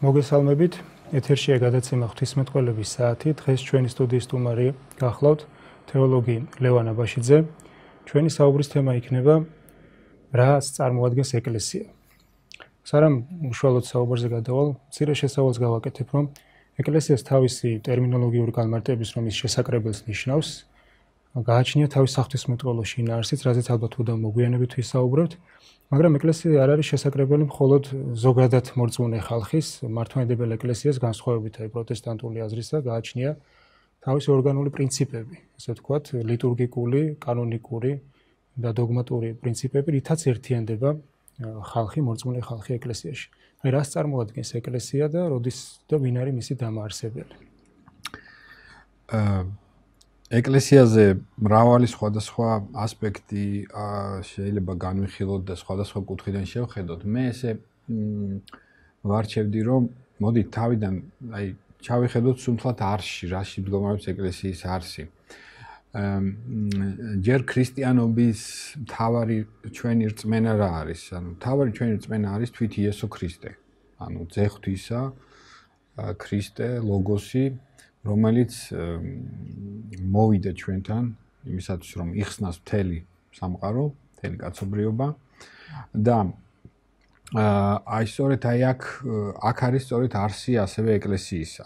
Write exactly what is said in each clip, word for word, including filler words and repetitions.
მოგესალმებით, ეთერშია გადაცემა ღვთისმეტყველების საათი. დღეს ჩვენი სტუდიის სტუმარი გახლავთ თეოლოგი ლევან აბაშიძე. ჩვენი საუბრის თემა იქნება რას წარმოადგენს ეკლესია. სარამ უშუალოდ საუბარზე გადავალ, მცირე შესავალს გავაკეთებ, რომ ეკლესიას თავისი ტერმინოლოგიური განმარტების რომ ის შესაკრებელს ნიშნავს, გააჩნია თავის საღვთისმეტყველო შინაარსიც, რაზეც ალბათ უდავ მოგვიანებით ვისაუბრებთ. მაგრამ ეკლესია არ არის შესაკრებელი მხოლოდ ზოგადად მორწმუნე ხალხის, მართლმადიდებელ ეკლესიას განსხვავებით აი პროტესტანტული აზრისა გააჩნია თავისი ორგანული პრინციპები, ასე ვთქვათ, ლიტურგიკული, კანონიკური და დოგმატური პრინციპები, რითაც ერთიანდება ხალხი, მორწმუნე ხალხი ეკლესიაში. აი რას წარმოადგენს ეკლესია და როდის და ვინ არის მისი დამაარსებელი? აა ეკლესიაზე მრავალი სხვადასხვა ასპექტი შეიძლება განვიხილოთ და სხვადასხვა კუთხიდან შევხედოთ. მე ესე ვარჩევდი, რომ მოდით თავიდან აი ჩავიხედოთ სუნთლად არსში, რაში მდგომარეობს ეკლესიის არსი. ჯერ ქრისტიანობის მთავარი ჩვენი რწმენა რა არის? ანუ მთავარი ჩვენი რწმენა არის თვით იესო ქრისტე. ანუ ძე ღვთისა, ქრისტე, ლოგოსი, რომელიც მოვიდა ჩვენთან იმისათვის რომ იხსნას მთელი სამყარო, მთელი კაცობრიობა და აი სწორედ აი აქ აქ არის სწორედ არსი ასევე ეკლესიისა.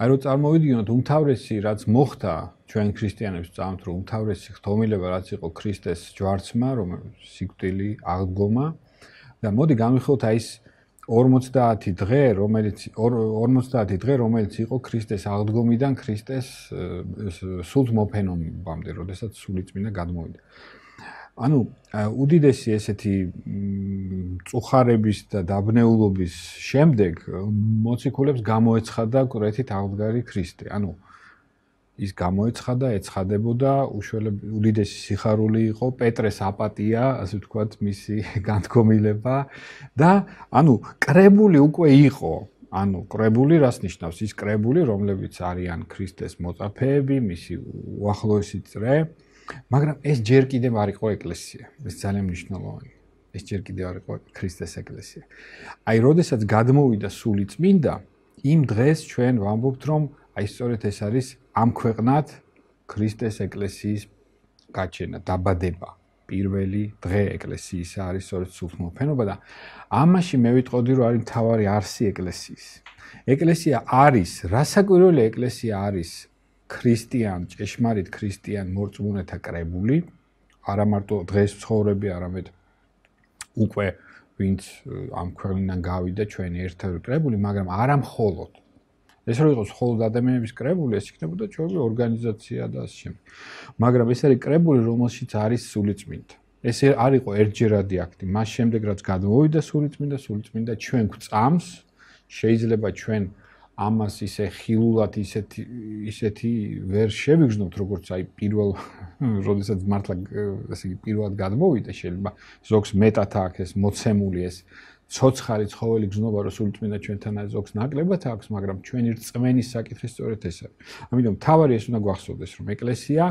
აი რომ წარმოვიდგინოთ უმთავრესი რაც მოხდა ჩვენ ქრისტიანებს წამთ რომ უმთავრესი ხდომილება რაც იყო ქრისტეს ჯვარცმა, რომელიც სიკვდილი, აღდგომა და მოდი განვიხილოთ აი ეს ორმოცდაათი დღე, რომელიც ორმოცდაათი დღე, რომელიც იყო ქრისტეს აღდგომიდან ქრისტეს სულთ მოფენომამდე, როდესაც სულიწმინდა გადმოვიდა. ანუ უდიდესი ესეთი მწუხარების და დაბნეულობის შემდეგ მოციქულებს გამოეცხადა კვეთით აღდგარი ქრისტე. ანუ ის გამოეცხადა, ეცხადებოდა, უდიდესი სიხარული იყო, პეტრეს აპატია, ასე ვთქვათ, მისი განდგომილება და ანუ კრებული უკვე იყო. ანუ კრებული რას ნიშნავს? ის კრებული, რომლებიც არიან ქრისტეს მოწაფეები, მისი უახლოესი წრე, მაგრამ ეს ჯერ კიდევ არ იყო ეკლესია. ეს ძალიან მნიშვნელოვანია. ეს ჯერ კიდევ არ იყო ქრისტეს ეკლესია. აი, როდესაც გადმოვიდა სულიწმინდა, იმ დღეს ჩვენ ვამბობთ, რომ აი სწორედ ეს არის ამ ქვეყნად ქრისტეს ეკლესიის გაჩენა, დაბადება. პირველი დღე ეკლესიისა არის სწორედ სულთმოფენობა და ამაში მე ვიტყოდი რომ არის მთავარი არსი ეკლესიის. ეკლესია არის, რასაკვირველია ეკლესია არის ქრისტიან, ჭეშმარიტ ქრისტიან მორწმუნეთა კრებული, არა მარტო დღეს ცხოვრები, არამედ უკვე ვინც ამ ქვეყნიდან გავიდა ჩვენი ერთადერთი კრებული, მაგრამ არა მხოლოდ ეს რო იყოს მხოლოდ ადამიანების კრებული, ეს იქნებოდა ჩვენი ორგანიზაცია და ასე შემდეგ. მაგრამ ეს არის კრებული, რომელშიც არის სულიწმინდა. ეს არ იყო ერთჯერადი აქტი. მას შემდეგ რაც გადმოვიდა სულიწმინდა, სულიწმინდა ჩვენ გვწამს, შეიძლება ჩვენ ამას ისე ხილულად ისეთი ისეთი ვერ შევიგრძნობთ, როგორც აი პირველ როდესაც მართლა ესე იგი პირველად გადმოვიდა, შეიძლება ზოგს მეტად აქვს ეს მოცემული ეს ცოცხალი ცხოველი გზნობა რომ სულიწმინდა ჩვენთან არის ზოგს ნაკლებად აქვს, მაგრამ ჩვენი რწმენის საკითხი სწორედ ეს არის. ამიტომ თავარი ეს უნდა გვახსოვდეს, რომ ეკლესია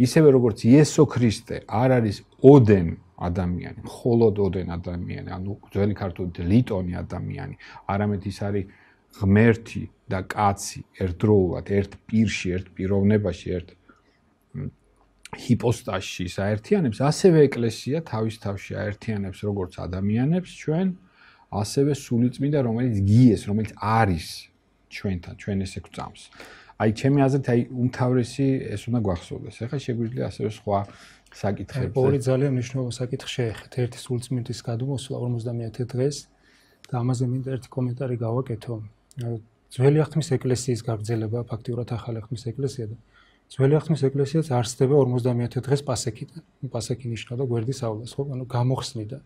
ისევე როგორც იესო ქრისტე არ არის ოდენ ადამიანი, მხოლოდ ოდენ ადამიანი, ანუ ძველი ქართულით ლიტონი ადამიანი, არამედ ის არის ღმერთი და კაცი ერთდროულად, ერთ პირში, ერთ პიროვნებაში, ერთ ჰიპოსტასში საერთიანებს, ასევე ეკლესია თავის თავში აერთიანებს როგორც ადამიანებს ჩვენ ასევე სულიწმინდა, რომელიც გიეს, რომელიც არის ჩვენთან, ჩვენ ესე გვწამს. აი, ჩემი აზრით, აი, უმთავრესი ეს უნდა გვახსოვდეს. ეხლა შეგვიძლია ასევე სხვა საკითხებზე. ორი ძალიან მნიშვნელოვანი საკითხი შეეხეთ. ერთი სულიწმინდის გადმოსვლა ორმოცდამეათე დღეს და ამაზე მინდა ერთი კომენტარი გავაკეთო. ძველი აღთქმის ეკლესიის გაგრძელება, ფაქტიურად ახალი აღთქმის ეკლესია და ძველი აღთქმის ეკლესიაც არსდება ორმოცდამეათე დღეს პასექიდან. პასექი ნიშნავდა გვერდისავლას, ხო? ანუ გამოხსნიდან.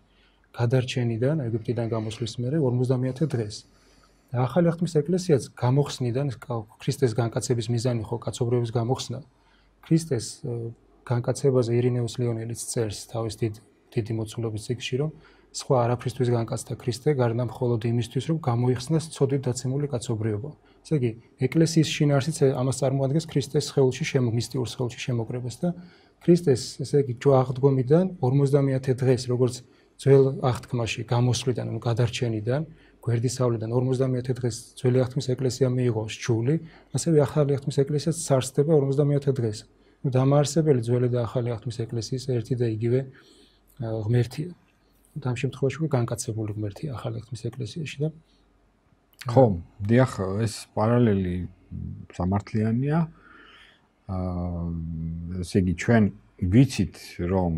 გადარჩენიდან, ეგვიპტიდან გამოსვლის მერე ორმოცდამეათე დღეს. და ახალი აღთქმის ეკლესიაც გამოხსნიდან ქრისტეს განკაცების მიზანი ხო კაცობრიობის გამოხსნა. ქრისტეს განკაცებაზე ირინეუს ლეონელიც წერს თავის დიდ დიდი მოცულობის წიგნში, რომ სხვა არაფრისთვის განკაცდა ქრისტე, გარდა მხოლოდ იმისთვის, რომ გამოიხსნას ცოდვით დაცემული კაცობრიობა. ესე იგი, ეკლესიის შინაარსიც ამას წარმოადგენს ქრისტეს სხეულში შემომისტიურ სხეულში შემოკრებას და ქრისტეს, ესე იგი, ჯვაღდგომიდან ორმოცდამეათე დღეს, როგორც ძველ აღთქმაში გამოსვლიდან, ანუ გადარჩენიდან, გვერდისავლიდან ორმოცდამეათე დღეს ძველი აღთქმის ეკლესია მიიღო სჯული, ასევე ახალი აღთქმის ეკლესიაც სარსდება ორმოცდამეათე დღეს. ნუ დამაარსებელი ძველი და ახალი აღთქმის ეკლესიის ერთი და იგივე ღმერთია. ამ შემთხვევაში უკვე განკაცებული ღმერთია ახალი აღთქმის ეკლესიაში და ხო, დიახ, ეს პარალელი სამართლიანია. აა ესე იგი ჩვენ ვიცით რომ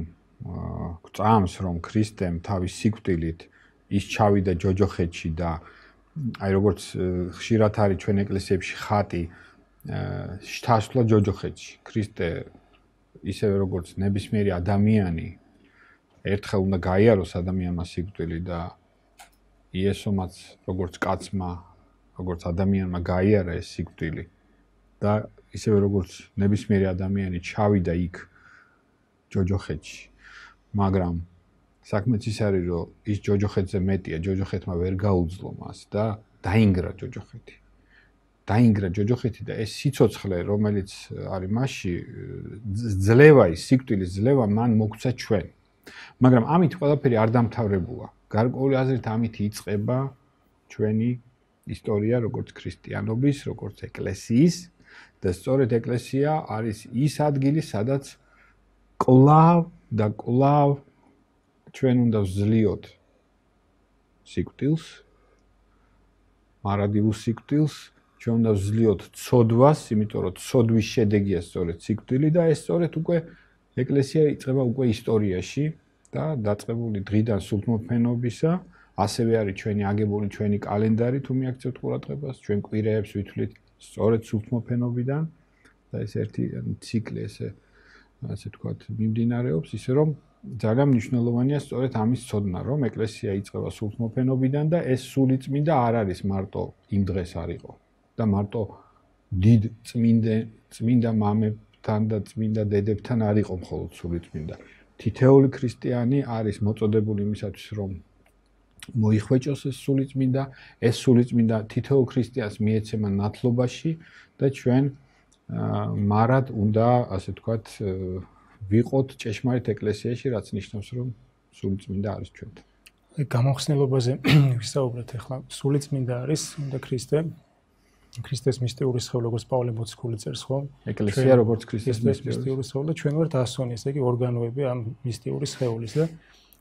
გწამს რომ ქრისტემ თავის სიკვდილით ის ჩავიდა ჯოჯოხეთში და აი როგორც ხშირად არის ჩვენ ეკლესიებში ხატი შთასვლა ჯოჯოხეთში. ქრისტე ისევე როგორც ნებისმიერი ადამიანი ერთხელ უნდა გაიაროს ადამიანმა სიკვდილი და იესომაც როგორც კაცმა, როგორც ადამიანმა გაიარა ეს სიკვდილი და ისევე როგორც ნებისმიერი ადამიანი ჩავიდა იქ ჯოჯოხეთში. მაგრამ საქმეც ის არის, რომ ის ჯოჯოხეთზე მეტია, ჯოჯოხეთმა ვერ გაუძლო მას და დაინგრა ჯოჯოხეთი. დაინგრა ჯოჯოხეთი და ეს სიცოცხლე, რომელიც არის მასში, ძლევა ის სიკვდილის ძლევა მან მოგცა ჩვენ. მაგრამ ამით ყველაფერი არ დამთავრებულა. გარკვეული აზრით ამით იწყება ჩვენი ისტორია, როგორც ქრისტიანობის, როგორც ეკლესიის და სწორედ ეკლესია არის ის ადგილი, სადაც კლავ და კლავ ჩვენ უნდა ვძლიოთ სიკვდილს, მარადილ სიკვდილს, ჩვენ უნდა ვძლიოთ ცოდვას, იმიტომ რომ ცოდვის შედეგია სწორედ სიკვდილი და ეს სწორედ უკვე ეკლესია იწყება უკვე ისტორიაში და დაწყებული დღიდან სულთმოფენობისა, ასევე არის ჩვენი აგებული ჩვენი კალენდარი, თუ მიაქცევთ ყურადღებას, ჩვენ კვირეებს ვითვლით სწორედ სულთმოფენობიდან და ეს ერთი ციკლი ესე ასე თქვათ მიმდინარეობს, ისე რომ ძალიან მნიშვნელოვანია სწორედ ამის ცოდნა, რომ ეკლესია იწყება სულთმოფენობიდან და ეს სულიწმინდა არ არის მარტო იმ დღეს არისო და მარტო დიდ წმინდა წმინდა მამებთან და წმინდა დედებთან არისო მხოლოდ სულიწმინდა. თითოეული ქრისტიანი არის მოწოდებული იმისათვის, რომ მოიხვეჭოს ეს სულიწმინდა, ეს სულიწმინდა თითოეულ ქრისტიანს მიეცემა ნათლობაში და ჩვენ მარად უნდა, ასე თქვათ, ვიყოთ ჭეშმარიტ ეკლესიაში, რაც ნიშნავს, რომ სულიწმინდა არის ჩვენთან. აი გამოხსნელობაზე ვისაუბრეთ ახლა. სულიწმინდა არის უნდა ქრისტე. ქრისტეს მისტიური სხეული, როგორც პავლე მოციქული წერს, ხო? ეკლესია როგორც ქრისტეს მისტიური სხეული და ჩვენ ვართ ასონი, ესე იგი ორგანოები ამ მისტიური სხეულის და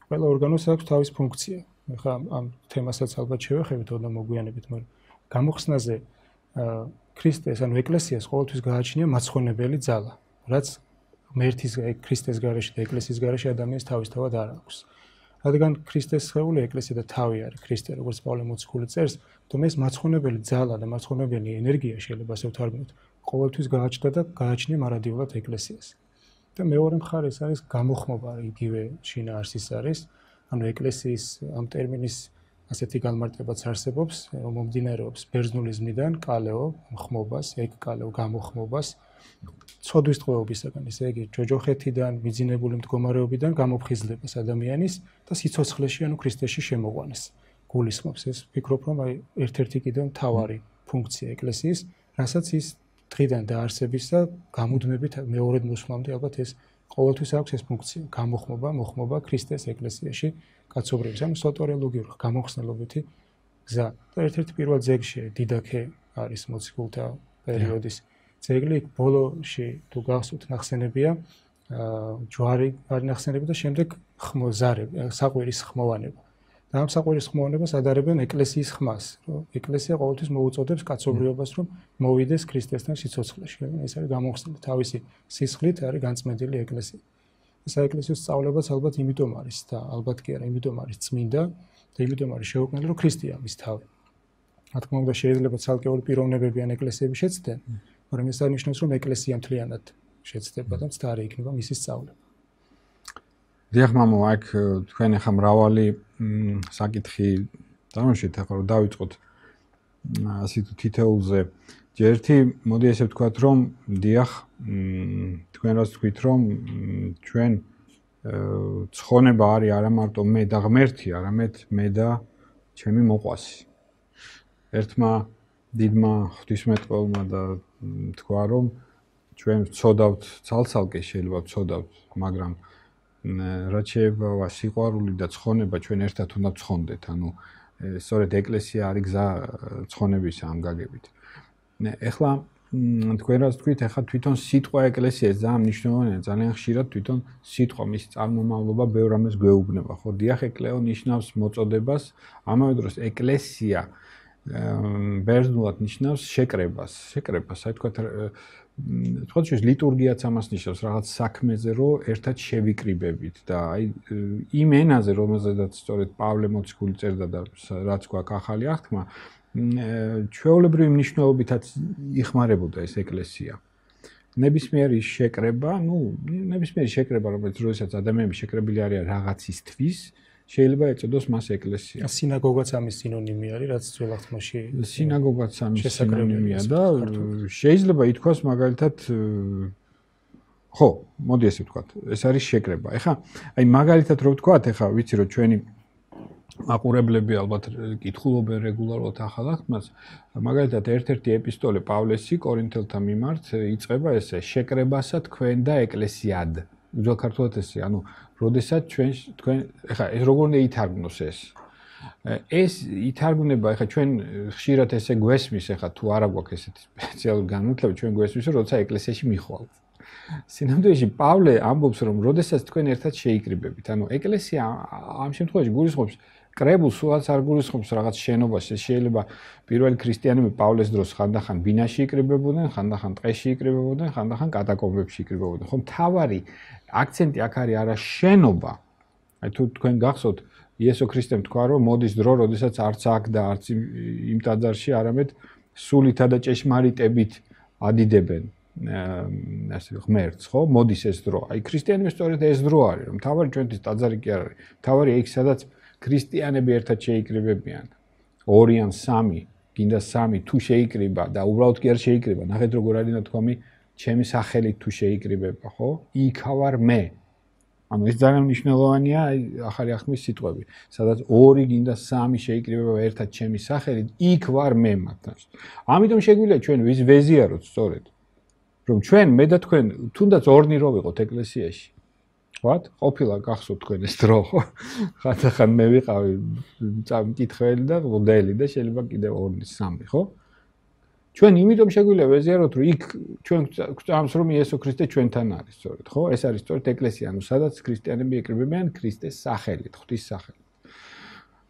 ყველა ორგანოს აქვს თავის ფუნქცია. ახლა ამ თემასაც ალბათ შევეხებით და მოგვიანებით, მაგრამ გამოხსნაზე ქრისტეს, ანუ ეკლესიას ყოველთვის გააჩნია მაცხვენებელი ძალა, რაც ღმერთის ქრისტეს გარეშე და ეკლესიის გარეშე ადამიანს თავისთავად არ აქვს. რადგან ქრისტეს სხეული ეკლესია და თავი არის ქრისტე, როგორც პავლე მოციქული წერს, თუმცა ეს მაცხვენებელი ძალა და მაცხვენებელი ენერგია შეიძლება ასე ვთარგმნოთ, ყოველთვის გააჩნდა და გააჩნია მარადიულად ეკლესიას. და მეორე მხარეს არის გამოხმობა, იგივე შინაარსის არის, ანუ ეკლესიის ამ ტერმინის ასეთი განმარტებაც არსებობს, რომ მომდინარეობს ბერძნულიზმიდან კალეო ხმობას, ეგ კალეო გამოხმობას, ცოდვის ტყვეობისაგან, ესე იგი ჯოჯოხეთიდან, მიძინებული მდგომარეობიდან გამოფხიზლებას ადამიანის და სიცოცხლეში, ანუ ქრისტეში შემოყვანას. გულისხმობს ეს, ვფიქრობ, რომ აი ერთ-ერთი კიდევ მთავარი ფუნქცია ეკლესიის, რასაც ის დღიდან დაარსებისა გამუდმებით მეორედ მოსვლამდე ალბათ ეს ყოველთვის აქვს ეს ფუნქცია, გამოხმობა, მოხმობა ქრისტეს ეკლესიაში კაცობრიობის, ანუ სოტორიოლოგიური გამოხსნელობითი გზა. და ერთ-ერთი პირველ ძეგლში დიდაქე არის მოციქულთა პერიოდის ძეგლი, ბოლოში თუ გახსოვთ ნახსენებია, ჯვარი არის ნახსენები და შემდეგ ხმოზარები, საყვირის ხმოვანება. და ამ საყვირის ხმოვანებას ადარებენ ეკლესიის ხმას, რომ ეკლესია ყოველთვის მოუწოდებს კაცობრიობას, რომ მოვიდეს ქრისტესთან სიცოცხლეში. ეს არის გამოხსნილი თავისი სისხლით არის განწმენდილი ეკლესია. საეკლესიო სწავლებაც ალბათ იმიტომ არის და ალბათ კი არა, იმიტომ არის წმინდა და იმიტომ არის შეუქმნელი, რომ ქრისტეა მის თავი. რა თქმა უნდა, შეიძლება ცალკეული პიროვნებები ან ეკლესიები შეცდნენ, მაგრამ ეს არ ნიშნავს, რომ ეკლესია მთლიანად შეცდება და მცდარი იქნება მისი სწავლება. დიახ, მამო, აქ თქვენ ახლა მრავალი საკითხი დამშვით, ახლა რომ დავიწყოთ ასე თუ თითოეულზე. ერთი, მოდი ესე ვთქვათ, რომ დიახ, თქვენ რას თქვით რომ ჩვენ ცხონება არის არა მარტო მე და ღმერთი, არამედ მე და ჩემი მოყვასი. ერთმა დიდმა ღვთისმეტყველმა და თქვა რომ ჩვენ ვცოდავთ ცალ-ცალკე შეიძლება ვცოდავთ, მაგრამ რაც შეება სიყვარული და ცხონება ჩვენ ერთად უნდა ვცხონდეთ. ანუ სწორედ ეკლესია არის გზა ცხონებისა ამ გაგებით. ეხლა თქვენ რას თქვით, ეხლა თვითონ სიტყვა ეკლესია ძალიან მნიშვნელოვანია, ძალიან ხშირად თვითონ სიტყვა მის წარმომავლობა ბევრ ამას გვეუბნება, ხო? დიახ, ეკლეო ნიშნავს მოწოდებას, ამავე დროს ეკლესია ბერძნულად ნიშნავს შეკრებას, შეკრებას, აი თქვათ თქვათ შეიძლება ლიტურგიაც ამას ნიშნავს, რაღაც საქმეზე რომ ერთად შევიკრიბებით და აი იმ ენაზე, რომელზედაც სწორედ პავლე მოციქული წერდა და რაც გვაქვს ახალი აღთქმა, ჩვეულებრივი მნიშვნელობითაც იხმარებოდა ეს ეკლესია. ნებისმიერი შეკრება, ну, ნებისმიერი შეკრება, რომელიც როდესაც ადამიანები შეკრებილი არიან რაღაცისთვის, შეიძლება ეწოდოს მას ეკლესია. სინაგოგაც ამის სინონიმი არის, რაც ძველ აღთქმაში სინაგოგაც ამის სინონიმია და შეიძლება ითქვას მაგალითად ხო, მოდი ესე ვთქვათ, ეს არის შეკრება. ეხლა აი მაგალითად რო ვთქვათ, ეხლა ვიცი რომ ჩვენი მაყურებლები ალბათ კითხულობენ რეგულარულად ახალ აღთქმას, მაგალითად ერთ-ერთი ეპისტოლე პავლესი კორინთელთა მიმართ იწყება ესე: შეკრებასა თქვენ და ეკლესიად. უძველ ქართულად ესე, ანუ როდესაც ჩვენ თქვენ ეხლა ეს როგორ უნდა ითარგმნოს ეს? ეს ითარგმნება, ეხლა ჩვენ ხშირად ესე გვესმის, ეხლა თუ არა გვაქვს ესეთი სპეციალური განმარტება, ჩვენ გვესმის, რომ როცა ეკლესიაში მიხვალთ. სინამდვილეში პავლე ამბობს, რომ როდესაც თქვენ ერთად შეიკრიბებით, ანუ ეკლესია ამ შემთხვევაში გულისხმობს კრებულს, სულაც არ გულისხმობს რაღაც შენობას, შეიძლება პირველი ქრისტიანები პავლეს დროს ხანდახან ბინაში იკრიბებოდნენ, ხანდახან ტყეში იკრიბებოდნენ, ხანდახან კატაკომბებში იკრიბებოდნენ. ხო, მთავარი აქცენტი აქ არის არა შენობა. აი თუ თქვენ გახსოვთ, იესო ქრისტემ თქვა, რომ მოდის დრო, როდესაც არც აქ და არც იმ ტაძარში, არამედ სულითა და ჭეშმარიტებით ადიდებენ ასე ღმერთს, ხო? მოდის ეს დრო. აი ქრისტიანების სწორედ ეს დრო არის, რომ მთავარი ჩვენთვის ტაძარი კი არ არის. მთავარია იქ, სადაც ქრისტიანები ერთად შეიკრიბებიან. ორი ან სამი, გინდა სამი თუ შეიკრიბა და უბრალოდ კი არ შეიკრიბა. ნახეთ როგორ არის ნათქვამი, ჩემი სახელით თუ შეიკრიბება, ხო? იქ ვარ მე. ანუ ეს ძალიან მნიშვნელოვანია, აი ახალი აღთქმის სიტყვები. სადაც ორი გინდა სამი შეიკრიბება ერთად ჩემი სახელით, იქ ვარ მე მათთან. ამიტომ შეგვიძლია ჩვენ ვის ვეზიაროთ სწორედ. რომ ჩვენ მე და თქვენ თუნდაც ორნი რო ვიყოთ ეკლესიაში. ვთქვათ, ყოფილა გახსოვთ თქვენ ეს დრო, ხო? ხანდახან მე ვიყავი მკითხველი და მოდელი და შეიძლება კიდევ ორნი, სამი, ხო? ჩვენ იმიტომ შეგვიძლია ვეზიაროთ, რომ იქ ჩვენ გვწამს რომ იესო ქრისტე ჩვენთან არის, სწორედ, ხო? ეს არის სწორედ ეკლესია, ანუ სადაც ქრისტიანები იკრიბებიან ქრისტეს სახელით, ღვთის სახელით.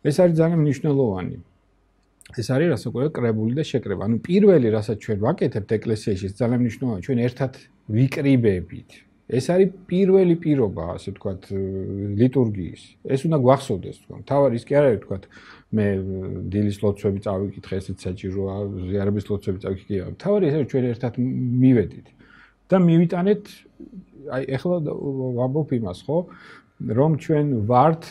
ეს არის ძალიან მნიშვნელოვანი. ეს არის რასაკვირველია კრებული და შეკრება. ანუ პირველი, რასაც ჩვენ ვაკეთებთ ეკლესიაში, ეს ძალიან მნიშვნელოვანია, ჩვენ ერთად ვიკრიბებით. ეს არის პირველი პირობა, ასე ვთქვათ, ლიტურგიის. ეს უნდა გვახსოვდეს, თქვა. თავარი ის კი არ არის, ვთქვათ, მე დილის ლოცვები წავიკითხე, ესეც საჭიროა, ზიარების ლოცვები წავიკითხე. თავარი ეს არის, ჩვენ ერთად მივედით და მივიტანეთ, აი ეხლა ვამბობ იმას, ხო? რომ ჩვენ ვართ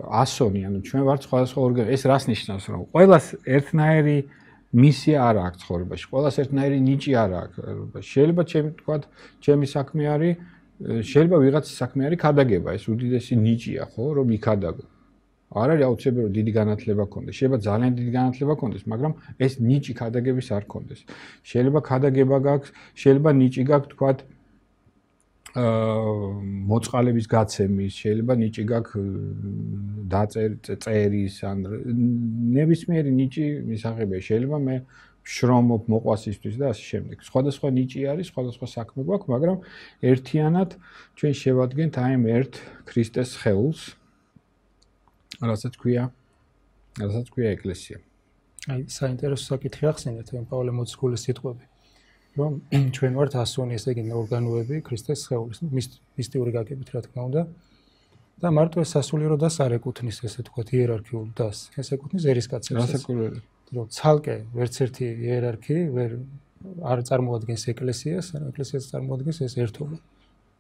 ასონი, ანუ ჩვენ ვართ სხვადასხვა ორგანო. ეს რას ნიშნავს, რომ ყველას ერთნაირი მისია არ აქვს ცხოვრებაში. ყველას ერთნაირი ნიჭი არ აქვს. შეიძლება ჩემი თქვათ, ჩემი საქმე არის, შეიძლება ვიღაცის საქმე არის ქადაგება, ეს უდიდესი ნიჭია, ხო, რომ იქადაგო. არ არის აუცილებელი რომ დიდი განათლება გქონდეს. შეიძლება ძალიან დიდი განათლება გქონდეს, მაგრამ ეს ნიჭი ქადაგების არ გქონდეს. შეიძლება ქადაგება გაქვს, შეიძლება ნიჭი გაქვს, თქვათ, აა მოწყალების გაცემის, შეიძლება ნიჭი გაქვს დაწერის, ან ნებისმიერი ნიჭი მისაღებია. შეიძლება მე შრომობ მოყვასისთვის და ასე შემდეგ. სხვადასხვა ნიჭი არის, სხვადასხვა საქმე გვაქვს, მაგრამ ერთიანად ჩვენ შევადგენთ აი ამ ერთ ქრისტეს სხეულს, რასაც ქვია, რასაც ქვია ეკლესია. აი საინტერესო საკითხი ახსენეთ, ამ პავლე მოციქულის სიტყვები. რომ ჩვენ ვართ ასონი, ესე იგი ორგანოები ქრისტეს სხეულის, მისტიური გაგებით, რა თქმა უნდა. და მარტო ეს სასულიერო დას არ ეკუთვნის, ესე თქვათ, იერარქიულ დას. ეს ეკუთვნის ერისკაცებს. რასაკვირველია. რომ ცალკე ვერც ერთი იერარქი ვერ არ წარმოადგენს ეკლესიას, ან ეკლესიას წარმოადგენს ეს ერთობა.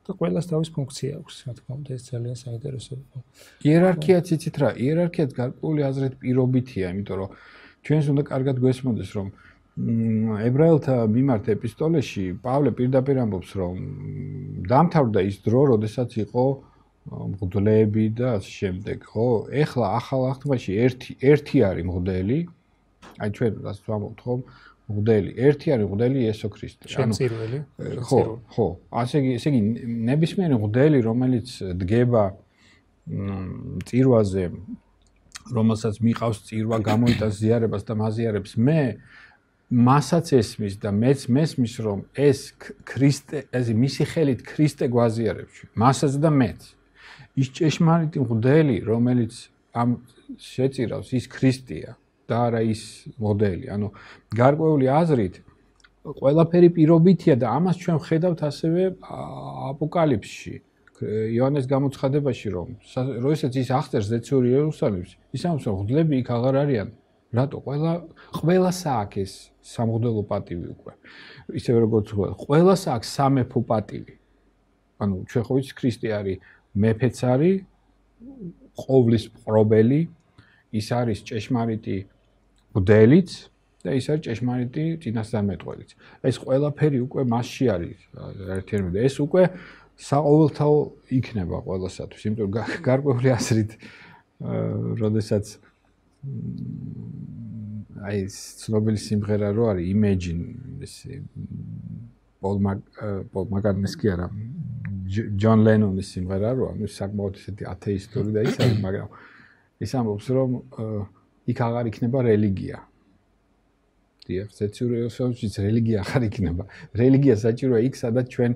და ყველას თავის ფუნქცია აქვს, რა თქმა უნდა, ეს ძალიან საინტერესოა. იერარქიაც იცით რა, იერარქიაც გარკვეული აზრით პირობითია, იმიტომ რომ ჩვენს უნდა კარგად გვესმოდეს, რომ ებრაელთა მიმართ ეპისტოლეში პავლე პირდაპირ ამბობს, რომ დამთავრდა ის დრო, როდესაც იყო მღვდლები და ასე შემდეგ, ხო? ეხლა ახალ აღთქმაში ერთი ერთი არის მღვდელი. აი ჩვენ რასაც ვამბობთ, ხო? მღვდელი, ერთი არის მღვდელი იესო ქრისტე. შემწირველი. ხო, ხო. ასე იგი, ესე იგი ნებისმიერი მღვდელი, რომელიც დგება წირვაზე, რომელსაც მიყავს წირვა, გამოიტანს ზიარებას და მაზიარებს, მე მასაც ესმის და მეც მესმის, რომ ეს ქრისტე, ეს მისი ხელით ქრისტე გვაზიარებს, მასაც და მეც. ის ჭეშმარიტი მღვდელი, რომელიც ამ შეწირავს, ის ქრისტეა და არა ის მოდელი. ანუ გარკვეული აზრით ყველაფერი პირობითია და ამას ჩვენ ვხედავთ ასევე აპოკალიფსში. იოანეს გამოცხადებაში, რომ როდესაც ის აღწერს ზეციური იერუსალიმს, ის ამბობს, რომ მღვდლები იქ აღარ არიან. რატო? ყველა ყველას აქვს ეს სამღვდელო პატივი უკვე. ისევე როგორც ყველას აქვს სამეფო პატივი. ანუ ჩვენ ხო ვიცით ქრისტე არის მეფეც არის, ყოვლის მყრობელი, ის არის ჭეშმარიტი მღვდელიც და ის არის ჭეშმარიტი წინასწარმეტყველიც. ეს ყველაფერი უკვე მასში არის ერთერთი. ეს უკვე საყოველთაო იქნება ყველასათვის, იმიტომ რომ გარკვეული აზრით, როდესაც აი ცნობილი სიმღერა რო არის Imagine, ესე პოლ მაკ-კარტნის კი არა, ჯონ ლენონის სიმღერა რო, ანუ საკმაოდ ისეთი ათეისტური და ის არის, მაგრამ ის ამბობს, რომ იქ აღარ იქნება რელიგია. დიახ, ზეციური იერუსალიმშიც რელიგია აღარ იქნება. რელიგია საჭიროა იქ, სადაც ჩვენ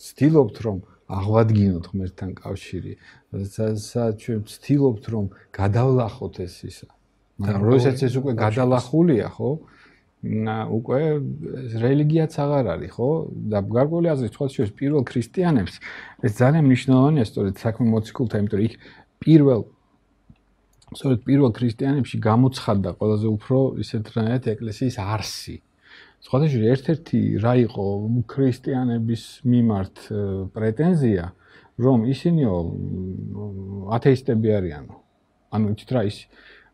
ვცდილობთ, რომ აღვადგინოთ ღმერთთან კავშირი, სადაც ჩვენ ვცდილობთ, რომ გადავლახოთ ეს ისა. მაგრამ როდესაც ეს უკვე გადალახულია, ხო? უკვე რელიგიაც აღარ არის, ხო? და გარკვეული აზრით სხვა შორის პირველ ქრისტიანებს ეს ძალიან მნიშვნელოვანია, სწორედ საქმე მოციქულთა, იმიტომ რომ იქ პირველ სწორედ პირველ ქრისტიანებში გამოცხადდა ყველაზე უფრო ისეთრანაირად ეკლესიის არსი. სხვა შორის ერთ-ერთი რა იყო ქრისტიანების მიმართ პრეტენზია, რომ ისინიო ათეისტები არიანო. ანუ იცით რა ის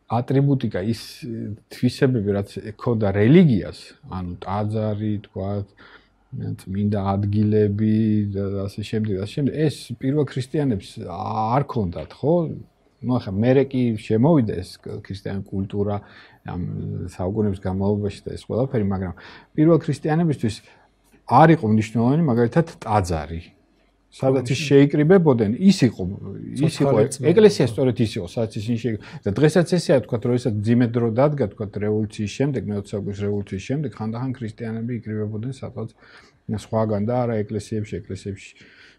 ატრიბუტიკა, ის თვისებები, რაც ეკოდა რელიგიას, ანუ ტაძარი, თქვათ, წმინდა ადგილები და ასე შემდეგ, ასე შემდეგ, ეს პირველ ქრისტიანებს არ ქონდათ, ხო? ну ახლა მერე კი შემოვიდა ეს ქრისტიანი კულტურა ამ საუკუნეების განმავლობაში და ეს ყველაფერი, მაგრამ პირველ ქრისტიანებისთვის არ იყო მნიშვნელოვანი მაგალითად ტაძარი. სადაც ის შეიკრიბებოდნენ, ის იყო, ის იყო ეკლესია სწორედ ის იყო, სადაც ისინი შეიკრიბებოდნენ. და დღესაც ესეა, თქვათ, როდესაც ძიმე დრო დადგა, თქვათ, რევოლუციის შემდეგ, მეოცე საუკუნის რევოლუციის შემდეგ, ხანდახან ქრისტიანები იკრიბებოდნენ სადღაც სხვაგან და არა ეკლესიებში, ეკლესიებში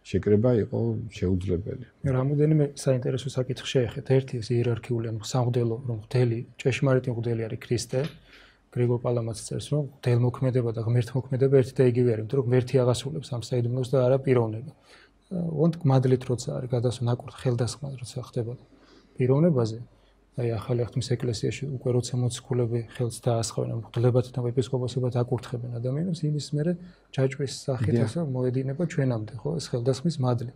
შეკრება იყო შეუძლებელი. რამოდენიმე საინტერესო საკითხი შეეხეთ. ერთი ეს იერარქიული, ანუ სამღვდელო, რომ მღვდელი, ჭეშმარიტი მღვდელი არის ქრისტე. გრიგორ პალამაც წერს, რომ მღვდელმოქმედება და ღმერთმოქმედება ერთი და იგივე არის, იმიტომ რომ ღმერთი აღასრულებს ამ საიდუმლოს და არა პიროვნება. ვონთ მადლით როცა არის გადასვლა ნაკურთხ ხელდასხმად როცა ხდება პიროვნებაზე, აი ახალი აღთქმის ეკლესიაში უკვე როცა მოციქულები ხელს დაასხავენ მღვდლებად და ეპისკოპოსებად აკურთხებენ ადამიანებს, იმის მერე ჯაჭვის სახით ასე მოედინება ჩვენამდე, ხო, ეს ხელდასხმის მადლი.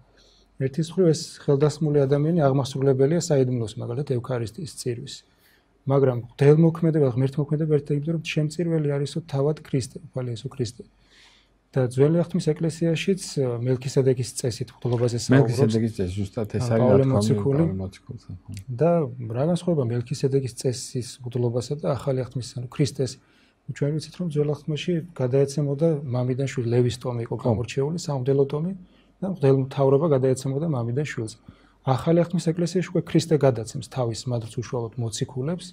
ერთის მხრივ ეს ხელდასხმული ადამიანი აღმასრულებელია საიდუმლოს, მაგალითად ევქარისტიის წირვის. მაგრამ მღვდელმოქმედება, ღმერთმოქმედება ერთ იმიტომ რომ შემწირველი არისო თავად ქრისტე, უფალი იესო ქრისტე. და ძველი აღთქმის ეკლესიაშიც მელქისედეკის წესით მღვდლობაზე საუბრობს. მელქისედეკის წესი ზუსტად ეს არის მოციქული. და რა განსხვავება მელქისედეკის წესის მღვდლობასა და ახალი აღთქმის, ანუ ქრისტეს. ჩვენ ვიცით რომ ძველ აღთქმაში გადაეცემოდა მამიდან შვილს, ლევის ტომი იყო გამორჩეული, სამღვდელო ტომი და მღვდელმთავრობა გადაეცემოდა მამიდან შვილს. ახალი აღთქმის ეკლესიაში უკვე ქრისტე გადაცემს თავის მადლს უშუალოდ მოციქულებს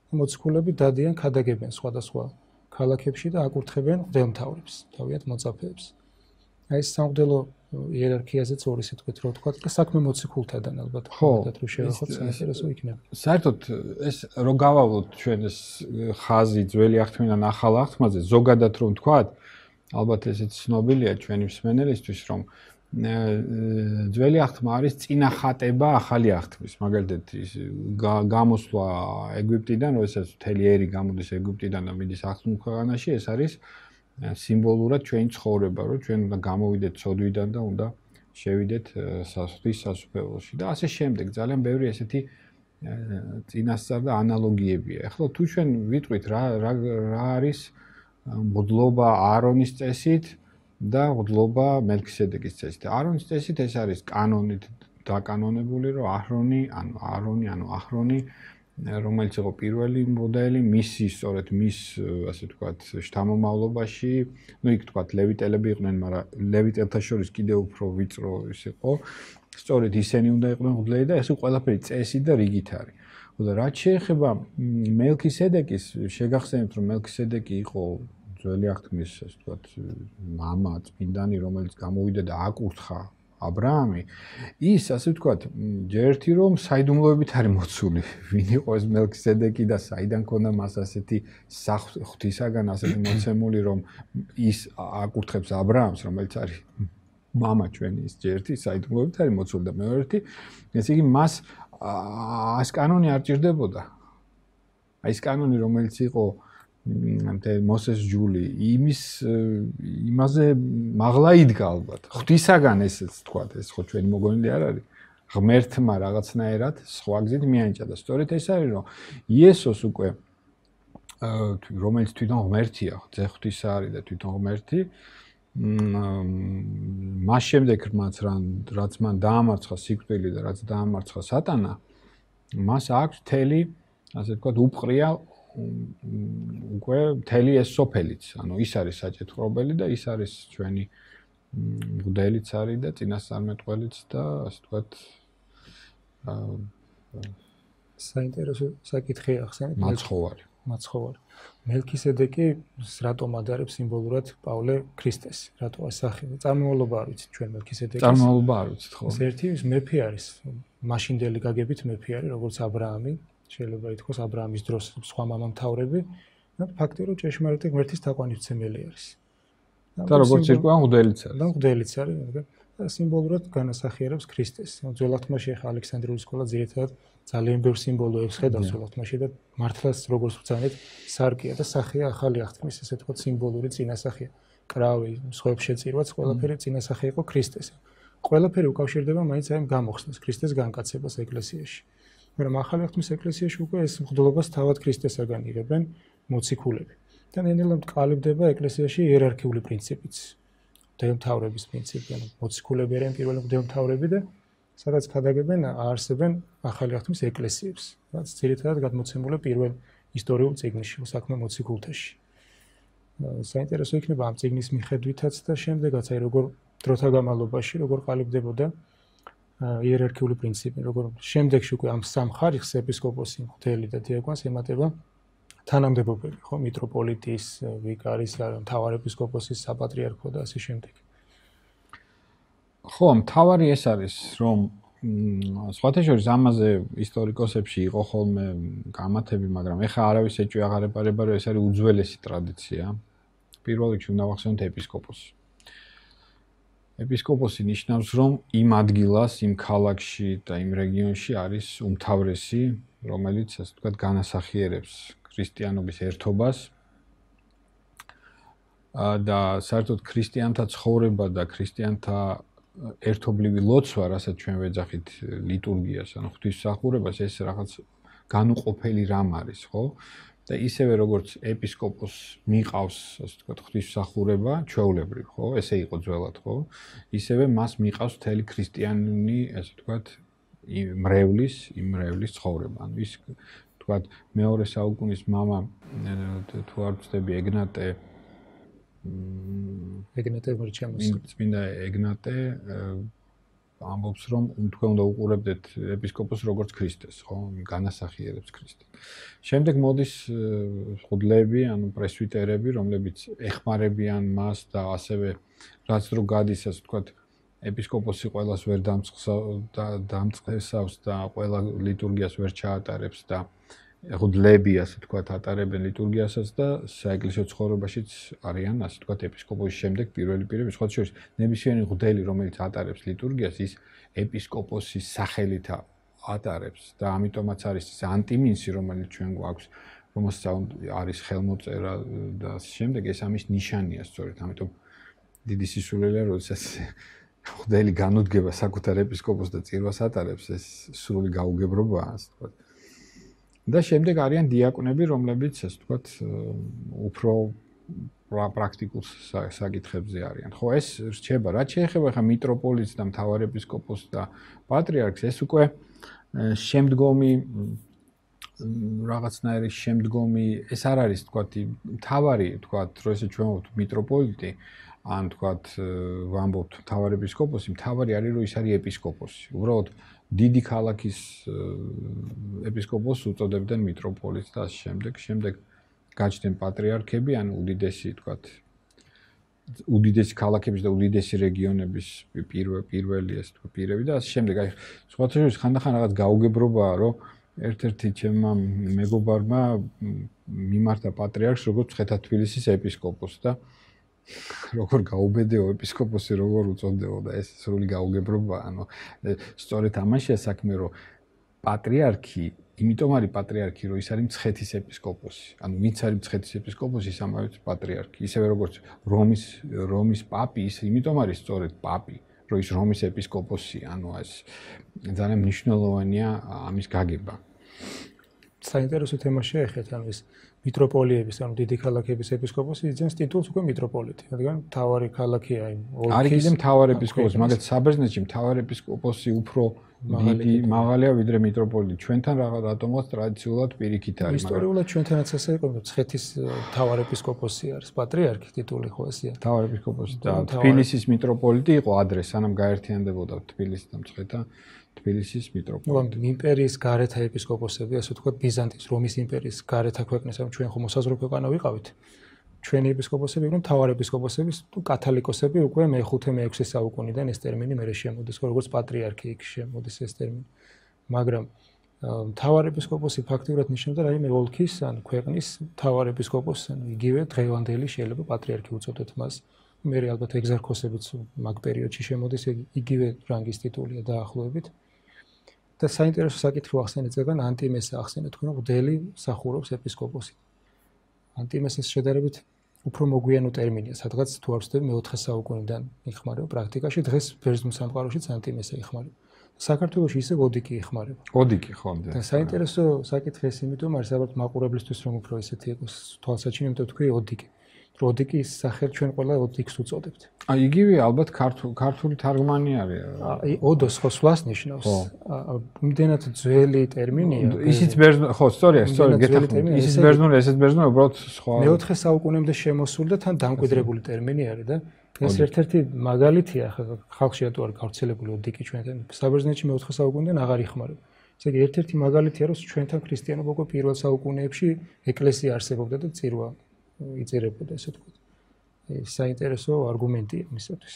და მოციქულები დადიან ქადაგებენ სხვადასხვა ქალაქებში და აკურთხებენ მღვდელმთავრებს, თავიანთ მოწაფეებს. აი ეს სამღვდელო იერარქიაზეც ორი სიტყვით რო ვთქვა და საქმე მოციქულთადან ალბათ ხოდათ რომ შევახოთ საინტერესო იქნება. საერთოდ ეს რო გავავლოთ ჩვენ ეს ხაზი ძველი აღთქმიდან ახალ აღთქმაზე, ზოგადად რომ ვთქვათ, ალბათ ესეც ცნობილია ჩვენი მსმენელისთვის, რომ ძველი აღთქმა არის წინახატება ახალი აღთქმის. მაგალითად ის გამოსვლა ეგვიპტიდან, როდესაც მთელი ერი გამოდის ეგვიპტიდან და მიდის აღთქმულ ქვეყანაში, ეს არის სიმბოლურად ჩვენი ცხოვრება, რომ ჩვენ უნდა გამოვიდეთ ცოდვიდან და უნდა შევიდეთ ღვთის სასუფეველოში და ასე შემდეგ. ძალიან ბევრი ესეთი წინასწარ და ანალოგიებია. ახლა თუ ჩვენ ვიტყვით რა რა არის მღვდლობა აარონის წესით და მღვდლობა მელქისედეკის წესით. აარონის წესით ეს არის კანონით დაკანონებული, რომ აჰრონი, ანუ აარონი, ანუ აჰრონი, რომელიც იყო პირველი მოდელი, მისი სწორედ მის, ასე ვთქვათ, შთამომავლობაში, ну იქ ვთქვათ, ლევიტელები იყვნენ, მაგრამ ლევიტელთა შორის კიდევ უფრო ვიწრო ის იყო. სწორედ ისინი უნდა იყვნენ მღვდლები და ეს ყველაფერი წესით და რიგით არის. და რაც შეეხება მელქისედეკის, შეგახსენებთ, რომ მელქისედეკი იყო ძველი აღთქმის, ასე ვთქვათ, მამა, წმინდანი, რომელიც გამოვიდა და აკურთხა აბრაამი, ის, ასე ვთქვათ, ჯერ ერთი რომ საიდუმლოებით არის მოცული, ვინ იყო ეს მელქისედეკი და საიდან ქონდა მას ასეთი ღვთისაგან ასეთი მოცემული, რომ ის აკურთხებს აბრაამს, რომელიც არის მამა ჩვენი, ის ჯერ ერთი საიდუმლოებით არის მოცული და მეორე ერთი, ესე იგი მას ეს კანონი არ ჭირდებოდა. აი ეს კანონი, რომელიც იყო მოსეს ჯული, იმის იმაზე მაღლა იდგა ალბათ. ღვთისაგან ესეც თქვა, ეს ხო ჩვენი მოგონილი არ არის. ღმერთმა რაღაცნაირად სხვა გზით მიანიჭა და სწორედ ეს არის, რომ იესოს უკვე რომელიც თვითონ ღმერთია, ძე ღვთისა არის და თვითონ ღმერთი, მას შემდეგ რაც რაც მან დაამარცხა სიკვდილი და რაც დაამარცხა სატანა, მას აქვს მთელი, ასე ვთქვათ, უპყრია უკვე მთელი ეს სოფელიც, ანუ ის არის საჭეთხრობელი და ის არის ჩვენი მღვდელიც არის და წინასწარმეტყველიც და ასე ვთქვათ საინტერესო საკითხი ახსენეთ. მაცხოვარი. მაცხოვარი. მელქისედეკი რატომ ადარებს სიმბოლურად პავლე ქრისტეს? რატო ასახება? წარმომავლობა არ ვიცით ჩვენ მელქისედეკის. წარმომავლობა არ ვიცით ხო? ეს ერთი მეფე არის. მაშინდელი გაგებით მეფე არის, როგორც აბრაამი. შეიძლება ითქვას აბრაამის დროს სხვა მამამთავრები, და ფაქტი რომ ჭეშმარიტი ღმერთის თაყვანისმცემელი არის. და როგორც ირკვევა მღვდელიც არის. და მღვდელიც არის, და სიმბოლურად განასახიერებს ქრისტეს. ძველათმაში ახლა ალექსანდრიული სკოლა ძირითადად ძალიან ბევრ სიმბოლოებს ხედავს ძველათმაში და მართლაც როგორც ვცანეთ, სარკია და სახეა ახალი აღთქმის, ესე ვთქვათ, სიმბოლური წინასახია. კრავი, სხვებს შეწირვაც, ყველაფერი წინასახე იყო ქრისტეს. ყველაფერი უკავშირდება მაინც აი გამოხსნას, ქრისტეს განკაცებას ეკლესიაში. მაგრამ ახალი აღთქმის ეკლესიაში უკვე ეს მღვდლობას თავად ქრისტესაგან იღებენ მოციქულები. და ნელ-ნელა კალიბდება ეკლესიაში იერარქიული პრინციპიც. მღვდელმთავრების პრინციპი, ანუ მოციქულები არიან პირველი მღვდელმთავრები და სადაც ქადაგებენ, აარსებენ ახალი აღთქმის ეკლესიებს, რაც ძირითადად გადმოცემულია პირველ ისტორიულ წიგნში, საქმე მოციქულთაში. საინტერესო იქნება ამ წიგნის მიხედვითაც და შემდეგაც, აი როგორ დროთა განმავლობაში, როგორ ყალიბდებოდა იერარქიული პრინციპი, როგორ შემდეგში უკვე ამ სამ ხარისხს ეპისკოპოსი, მღვდელი და დიაკონს ემატება თანამდებობები, ხო, მიტროპოლიტის, ვიკარის, მთავარ ეპისკოპოსის, საპატრიარქო და ასე შემდეგ. ხო, მთავარი ეს არის, რომ სხვათა შორის ამაზე ისტორიკოსებში იყო ხოლმე გამათები, მაგრამ ეხლა არავის ეჭვი აღარ ეპარება, რომ ეს არის უძველესი ტრადიცია. პირველ რიგში უნდა ვახსენოთ ეპისკოპოსი. ეპისკოპოსი ნიშნავს, რომ იმ ადგილას, იმ ქალაქში და იმ რეგიონში არის უმთავრესი, რომელიც, ასე ვთქვათ, განასახიერებს ქრისტიანობის ერთობას და საერთოდ ქრისტიანთა ცხოვრება და ქრისტიანთა ერთობლივი ლოცვა, რასაც ჩვენ ვეძახით ლიტურგიას, ანუ ღვთისმსახურებას, ეს რაღაც განუყოფელი რამ არის, ხო? და ისევე როგორც ეპისკოპოსს მიყავს, ასე ვთქვათ, ღვთისმსახურება, ჩვეულებრივ, ხო? ესე იყო ძველად, ხო? ისევე მას მიყავს მთელი ქრისტიანი, ასე ვთქვათ, მრევლის, იმ მრევლის ცხოვრება. ანუ ის, ვთქვათ, მეორე საუკუნის მამა, თუ არ ვცდები, ეგნატე ეგნატე მორჩამოს. წმინდა ეგნატე ამბობს, რომ თქვენ უნდა უყურებდეთ ეპისკოპოსს როგორც ქრისტეს, ხო? განასახიერებს ქრისტეს. შემდეგ მოდის მღვდლები, ანუ პრესვიტერები, რომლებიც ეხმარებიან მას და ასევე რაც დრო გადის, ასე ვთქვათ, ეპისკოპოსი ყველას ვერ დამწყესავს და ყველა ლიტურგიას ვერ ჩაატარებს და მღვდლები, ასე ვთქვათ, ატარებენ ლიტურგიასაც და საეკლესიო ცხოვრებაშიც არიან, ასე ვთქვათ, ეპისკოპოსის შემდეგ პირველი პირები, სხვა შორის ნებისმიერი მღვდელი, რომელიც ატარებს ლიტურგიას, ის ეპისკოპოსის სახელით ატარებს და ამიტომაც არის ეს ანტიმინსი, რომელიც ჩვენ გვაქვს, რომელსაც არის ხელმოწერა და ასე შემდეგ, ეს ამის ნიშანია სწორედ, ამიტომ დიდი სისულელეა, როდესაც მღვდელი განუდგება საკუთარ ეპისკოპოსს და წირვას ატარებს, ეს სრული გაუგებრობაა, ასე ვთქვათ. და შემდეგ არიან დიაკვნები, რომლებიც, ასე ვთქვათ, უფრო პრაქტიკულ საკითხებზე არიან. ხო, ეს რჩება, რაც შეეხება ხა მიტროპოლიტს და მთავარ ეპისკოპოსს და პატრიარქს, ეს უკვე შემდგომი რაღაცნაირი შემდგომი ეს არ არის თქვათ მთავარი თქვათ რომ ესე ჩვენ ვამბობთ მიტროპოლიტი ან თქვათ ვამბობთ მთავარ ეპისკოპოსი, მთავარი არის რომ ის არის ეპისკოპოსი. უბრალოდ დიდი ქალაქის ეპისკოპოსს უწოდებდნენ მიტროპოლიტს და ამ შემდეგ შემდეგ გაჩნდნენ პატრიარქები, ანუ უდიდესი თქვათ უდიდესი ქალაქების და უდიდესი რეგიონების პირველი ეს თქვა პირები და ამ შემდეგ აი სხვათა შორის ხანდახან რაღაც გაუგებრობაა რომ ერთ-ერთი ჩემმა მეგობარმა მიმართა პატრიარქს როგორც ცხეთა თბილისის ეპისკოპოსს და როგორ გაუბედეო ეპისკოპოსი როგორ უწოდეო და ეს სრული გაუგებრობაა ანუ სწორედ ამაშია საქმე რომ პატრიარქი იმიტომ არის პატრიარქი რომ ის არის მცხეთის ეპისკოპოსი ანუ ვინც არის მცხეთის ეპისკოპოსი ის ამავე პატრიარქი ისევე როგორც რომის რომის პაპი ის იმიტომ არის სწორედ პაპი რომ ის რომის ეპისკოპოსია ანუ ეს ძალიან მნიშვნელოვანია ამის გაგება საინტერესო თემა შეეხეთ ანუ ეს მიტროპოლიების ანუ დიდი ქალაქების ეპისკოპოსი იძენს ტიტულს უკვე მიტროპოლიტი რადგან მთავარი ქალაქია იმ ოლქის არის კიდე მთავარ ეპისკოპოსი მაგალითად საბერძნეთში მთავარ ეპისკოპოსი უფრო დიდი მაღალია ვიდრე მიტროპოლიტი ჩვენთან რატომღაც ტრადიციულად პირიქით არის მაგრამ ისტორიულად ჩვენთანაც ასე იყო მცხეთის მთავარ ეპისკოპოსი არის პატრიარქი ტიტული ხო ესეა მთავარ ეპისკოპოსი და თბილისის მიტროპოლიტი იყო ადრე სანამ გაერთიანდებოდა თბილისი და მცხეთა თბილისის მიტროპოლიტი. ნუ იმპერიის გარეთა ეპისკოპოსები, ასე ვთქვათ, ბიზანტიის, რომის იმპერიის გარეთა ქვეყნის, ანუ ჩვენ ხომ მოსაზრო ქვეყანა ვიყავით. ჩვენი ეპისკოპოსები იყვნენ მთავარ ეპისკოპოსების, თუ კათოლიკოსები უკვე მე-ხუთე მე-ექვსე საუკუნიდან ეს ტერმინი მერე შემოდის, როგორც პატრიარქი იქ შემოდის ეს ტერმინი. მაგრამ მთავარ ეპისკოპოსი ფაქტიურად ნიშნავდა რაიმე ოლქის ან ქვეყნის მთავარ ეპისკოპოსს, ანუ იგივე დღევანდელი შეიძლება პატრიარქი უწოდოთ მას. მერე ალბათ ეგზარქოსებიც მაგ პერიოდში შემოდის იგივე რანგის ტიტულია დაახლოებით. და საინტერესო საკითხი ახსენეთ ზეგან ანტიმესა ახსენეთ თქვენ მდელი სახურობს ეპისკოპოსი. ანტიმესის შედარებით უფრო მოგვიანო ტერმინია, სადღაც თუ არ ვცდები მეოთხე საუკუნიდან იხმარება პრაქტიკაში, დღეს ბერძნულ სამყაროშიც ანტიმესა იხმარება. საქართველოში ისე ოდიკი იხმარება. ოდიკი ხო და საინტერესო საკითხი ეს იმიტომ არის, ალბათ მაყურებლისთვის რომ უფრო ისეთი იყოს თვალსაჩინო, იმიტომ თქვი ოდიკი. ოდიკის სახელ ჩვენ ყველა ოდიკს უწოდებთ. აი იგივე ალბათ ქართული ქართული თარგმანი არის. აი ოდოს ხო სვლას ნიშნავს. იმდენად ძველი ტერმინია. ისიც ბერძნული ხო სწორია, სწორია, გეთახმებით. ისიც ბერძნული, ესეც ბერძნული, უბრალოდ სხვა. მეოთხე საუკუნემდე შემოსული და თან დამკვიდრებული ტერმინი არის და ეს ერთ-ერთი მაგალითია ხალხში რატო არ გავრცელებული ოდიკი ჩვენთან. საბერძნეთში მეოთხე საუკუნიდან აღარ იხმარება. ესე იგი ერთ-ერთი მაგალითია რომ ჩვენთან ქრისტიანობა უკვე პირველ საუკუნეებში ეკლესია არსებობდა და წირვა იწერებოდა ესე ვთქვათ. ეს საინტერესო არგუმენტია მისათვის.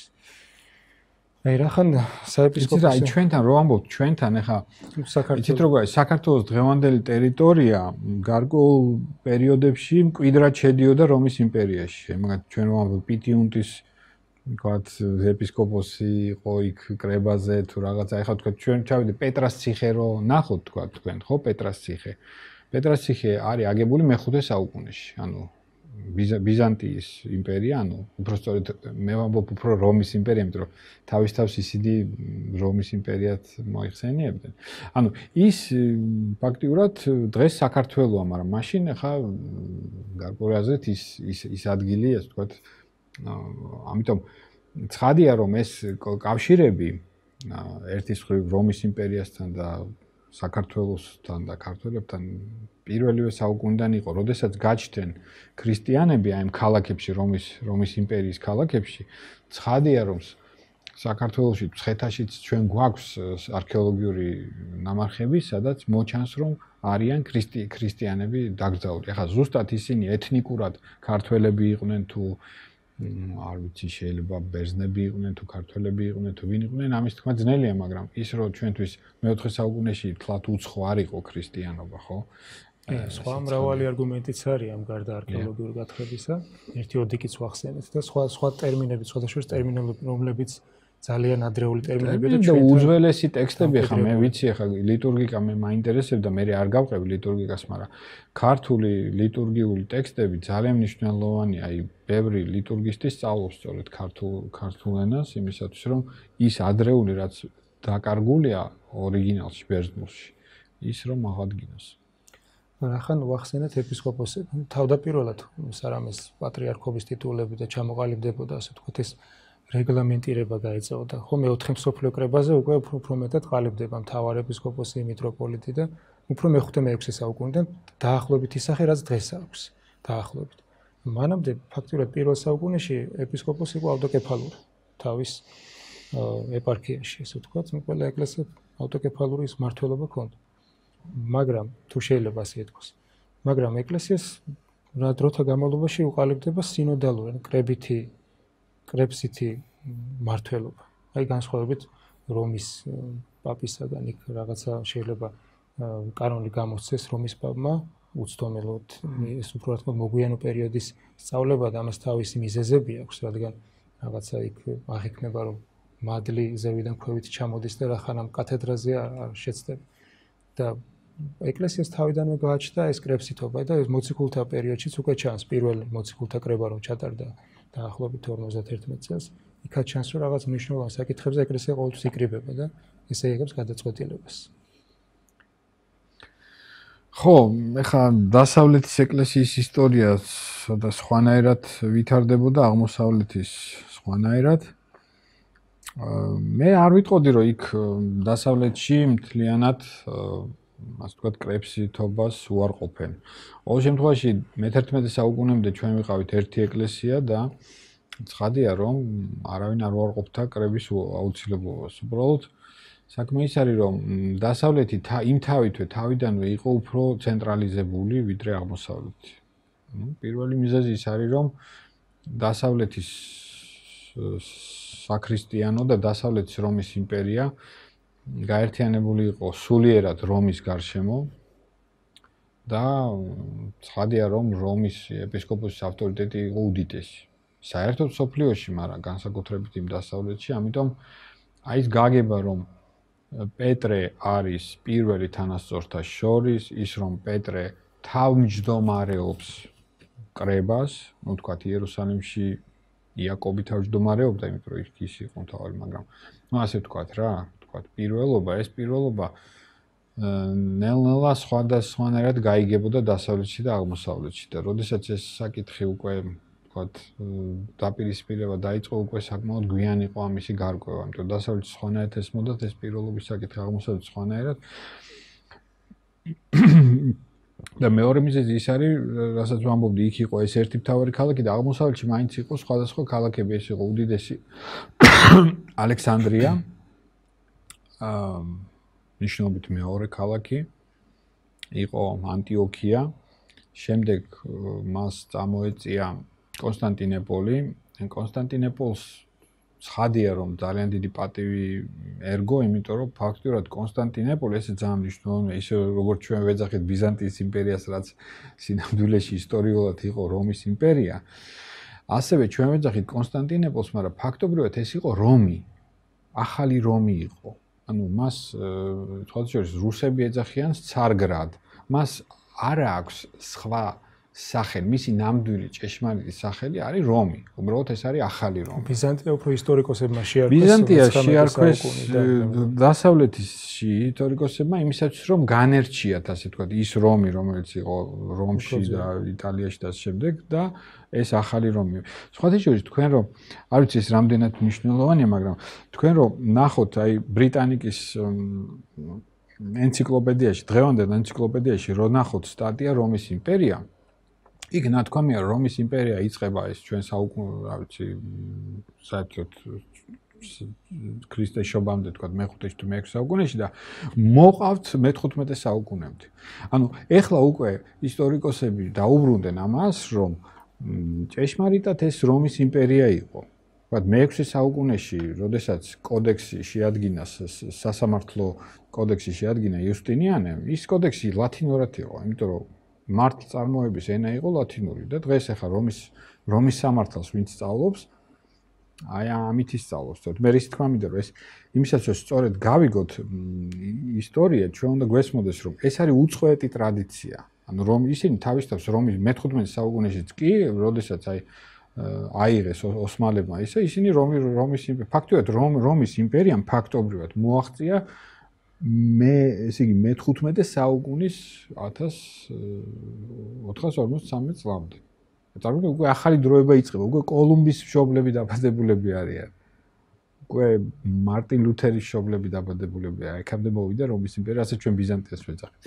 აი რახან საეპისკოპოსო აი ჩვენთან რო ამბობთ ჩვენთან ეხა საქართველოს როგორ არის საქართველოს დღევანდელი ტერიტორია გარკვეულ პერიოდებში მკვიდრად შედიოდა რომის იმპერიაში. მაგალითად ჩვენ რო ამბობთ პიტიუნტის ვთქვათ ეპისკოპოსი იყო იქ კრებაზე თუ რაღაცა ეხა ვთქვათ ჩვენ ჩავიდეთ პეტრას ციხე რო ნახოთ ვთქვათ თქვენ ხო პეტრას ციხე. პეტრას ციხე არის აგებული მე-ხუთე საუკუნეში. ანუ ბიზანტიის იმპერია, ანუ უფრო სწორედ მე ვამბობ უფრო რომის იმპერია, იმიტომ რომ თავის თავს ისინი რომის იმპერიად მოიხსენიებდნენ. ანუ ის ფაქტიურად დღეს საქართველოა, მაგრამ მაშინ ახლა გარკვეულ აზრით ის ის ის ადგილია, ასე ვთქვათ, ამიტომ ცხადია რომ ეს კავშირები ერთის მხრივ რომის იმპერიასთან და საქართველოსთან და ქართველებთან პირველივე საუკუნიდან იყო, როდესაც გაჩნდნენ ქრისტიანები აი ამ ქალაქებში, რომის რომის იმპერიის ქალაქებში, ცხადია რომ საქართველოში, მცხეთაშიც ჩვენ გვაქვს არქეოლოგიური ნამარხები, სადაც მოჩანს რომ არიან ქრისტიანები დაკრძალული. ახლა ზუსტად ისინი ეთნიკურად ქართველები იყვნენ თუ არ ვიცი შეიძლება ბერძნები იყვნენ თუ ქართველები იყვნენ თუ ვინ იყვნენ ამის თქმა ძნელია მაგრამ ის რომ ჩვენთვის მეოთხე საუკუნეში თლათ უცხო არ იყო ქრისტიანობა ხო სხვა მრავალი არგუმენტიც არის ამ გარდა არქეოლოგიური გათხრებისა ერთი ოდიკიც ვახსენეთ და სხვა სხვა ტერმინები სხვადასხვა ტერმინები რომლებიც ძალიან ადრეული ტერმინებია და უძველესი ტექსტები ხა მე ვიცი ხა ლიტურგიკა მე მაინტერესებდა მე არ გავყევი ლიტურგიკას მაგრამ ქართული ლიტურგიული ტექსტები ძალიან მნიშვნელოვანია აი ბევრი ლიტურგისტი სწავლობს სწორედ ქართულ ქართულ ენას იმისათვის რომ ის ადრეული რაც დაკარგულია ორიგინალში ბერძნულში ის რომ აღადგინოს რახან უახსენეთ ეპისკოპოსები. თავდაპირველად სარამეს პატრიარქობის ტიტულები და ჩამოყალიბდებოდა, ასე ვთქვათ, ეს რეგლამენტირება გაეწეოდა. ხომ მეოთხე მსოფლიო კრებაზე უკვე უფრო მეტად ყალიბდება მთავარ ეპისკოპოსი, მიტროპოლიტი და უფრო მეხუთე მეექვსე საუკუნიდან დაახლოებით ისახე, რაც დღეს აქვს. დაახლოებით. მანამდე ფაქტურად პირველ საუკუნეში ეპისკოპოსი იყო ავტოკეფალური თავის ეპარქიაში, ასე ვთქვათ, ყველა ეკლესიას ავტოკეფალური მმართველობა ჰქონდა. მაგრამ თუ შეიძლება ასე ითქვას, მაგრამ ეკლესიას რა დროთა განმავლობაში უყალიბდება სინოდალური, კრებითი, კრებსითი მმართველობა. აი განსხვავებით რომის პაპისაგან იქ რაღაცა შეიძლება კანონი გამოსცეს რომის პაპმა უცდომელად ეს უფრო რა თქმა უნდა მოგვიანო პერიოდის სწავლება და ამას თავისი მიზეზები აქვს, რადგან რაღაცა იქ აღიქმნება რომ მადლი ზევიდან ქვევით ჩამოდის და რახან ამ კათედრაზე არ შეცდება. და ეკლესიას თავიდანვე გააჩნდა ეს კრებსითობა და ეს მოციქულთა პერიოდშიც უკვე ჩანს პირველი მოციქულთა კრება რომ ჩატარდა დაახლოებით ორმოცდაერთმეტ წელს. იქაც ჩანს რომ რაღაც მნიშვნელოვან საკითხებზე ეკლესია ყოველთვის იკრიბება და ესე იღებს გადაწყვეტილებას. ხო, ეხლა დასავლეთის ეკლესიის ისტორია და სხვანაირად ვითარდებოდა, აღმოსავლეთის სხვანაირად. მე არ ვიტყოდი რომ იქ დასავლეთში მთლიანად ასე ვთქვათ კრებსითობას უარყოფენ. ყოველ შემთხვევაში მეთერთმეტე საუკუნემდე ჩვენ ვიყავით ერთი ეკლესია და ცხადია რომ არავინ არ უარყოფდა კრების აუცილებლობას. უბრალოდ საქმე ის არის რომ დასავლეთი იმ თავითვე თავიდანვე იყო უფრო ცენტრალიზებული ვიდრე აღმოსავლეთი. ნუ პირველი მიზეზი ის არის რომ დასავლეთის საქრისტიანო და დასავლეთის რომის იმპერია გაერთიანებული იყო სულიერად რომის გარშემო და ცხადია რომ რომის ეპისკოპოსის ავტორიტეტი იყო უდიდესი. საერთოდ მსოფლიოში, მაგრამ განსაკუთრებით იმ დასავლეთში, ამიტომ აი ეს გაგება რომ პეტრე არის პირველი თანასწორთა შორის, ის რომ პეტრე თავმჯდომარეობს კრებას, ну თქვათ იერუსალიმში იაკობი თავმჯდომარეობდა, იმიტომ რომ ის იყო მთავარი, მაგრამ ну ასე ვთქვათ რა, ვთქვათ პირველობა, ეს პირველობა ნელ-ნელა სხვადასხვანაირად გაიგებოდა დასავლეთში და აღმოსავლეთში და როდესაც ეს საკითხი უკვე ვთქვათ დაპირისპირება დაიწყო, უკვე საკმაოდ გვიან იყო ამისი გარკვევა, იმიტომ დასავლეთში სხვანაირად ესმოდათ ეს პირველობის საკითხი, აღმოსავლეთში სხვანაირად. და მეორე მიზეზი ის არის, რასაც ვამბობდი, იქ იყო ეს ერთი მთავარი ქალაქი და აღმოსავლეთში მაინც იყო სხვადასხვა ქალაქები, ეს იყო უდიდესი ალექსანდრია, აა ნიშნობით მეორე ქალაქი, იყო ანტიოქია, შემდეგ მას წამოეწია კონსტანტინეპოლი. კონსტანტინეპოლს ცხადია რომ ძალიან დიდი პატივი ერგო, იმიტომ რომ ფაქტურად კონსტანტინეპოლი ესე ძალიან მნიშვნელოვანია, ისე როგორც ჩვენ ვეძახით ბიზანტიის იმპერიას, რაც სინამდვილეში ისტორიულად იყო რომის იმპერია. ასევე ჩვენ ვეძახით კონსტანტინეპოლს, მაგრამ ფაქტობრივად ეს იყო რომი, ახალი რომი იყო. ანუ მას თქვათ შორის რუსები ეძახიან ცარგრად. მას არ აქვს სხვა სახელი, მისი ნამდვილი ჭეშმარიტი სახელი არის რომი. უბრალოდ ეს არის ახალი რომი. ბიზანტია უფრო ისტორიკოსებმა შეარქვეს. ბიზანტია შეარქვეს დასავლეთში ისტორიკოსებმა იმისათვის რომ განერჩიათ, ასე ვთქვათ, ის რომი, რომელიც იყო რომში და იტალიაში და შემდეგ და ეს ახალი რომი. სხვათა შორის თქვენ რომ არ ვიცი ეს რამდენად მნიშვნელოვანია, მაგრამ თქვენ რომ ნახოთ აი ბრიტანიკის ენციკლოპედიაში, დღევანდელ ენციკლოპედიაში რო ნახოთ სტატია რომის იმპერია, იქ ნათქვამია რომის იმპერია იწყება ეს ჩვენ საუკუნე, რა ვიცი, საერთოდ ქრისტეს შობამდე თქვა მეხუთეში თუ მეექვსე საუკუნეში და მოყავთ მეთხუთმეტე საუკუნემდე. ანუ ეხლა უკვე ისტორიკოსები დაუბრუნდნენ ამას, რომ ჭეშმარიტად ეს რომის იმპერია იყო. თქვა მეექვსე საუკუნეში, როდესაც კოდექსი შეადგინა, სასამართლო კოდექსი შეადგინა იუსტინიანემ, ის კოდექსი ლათინურად იყო, იმიტომ რომ მართლწარმოების ენა იყო ლათინური და დღეს ახლა რომის რომის სამართალს ვინც სწავლობს, აი ამით ისწავლობს. მე რის თქმა მინდა რომ ეს იმისაც სწორედ გავიგოთ ისტორია, ჩვენ უნდა გვესმოდეს რომ ეს არის უცხოეთი ტრადიცია. ანუ რომ ისინი თავისთავად რომის მეთხუთმეტე საუკუნეშიც კი, როდესაც აი აიღეს ოსმალებმა ისე ისინი რომის რომის ფაქტობრივად რომის იმპერიამ ფაქტობრივად მოაღწია მე ესე იგი მეთხუთმეტე საუკუნის ათას ოთხას ორმოცდამეტ წლამდე. წარმოიდგინე უკვე ახალი დროება იწყება, უკვე კოლუმბის მშობლები დაბადებულები არიან. უკვე მარტინ ლუთერის მშობლები დაბადებულებია. ეკამდე მოვიდა რომის იმპერია, ასე ჩვენ ბიზანტიას ვეძახით.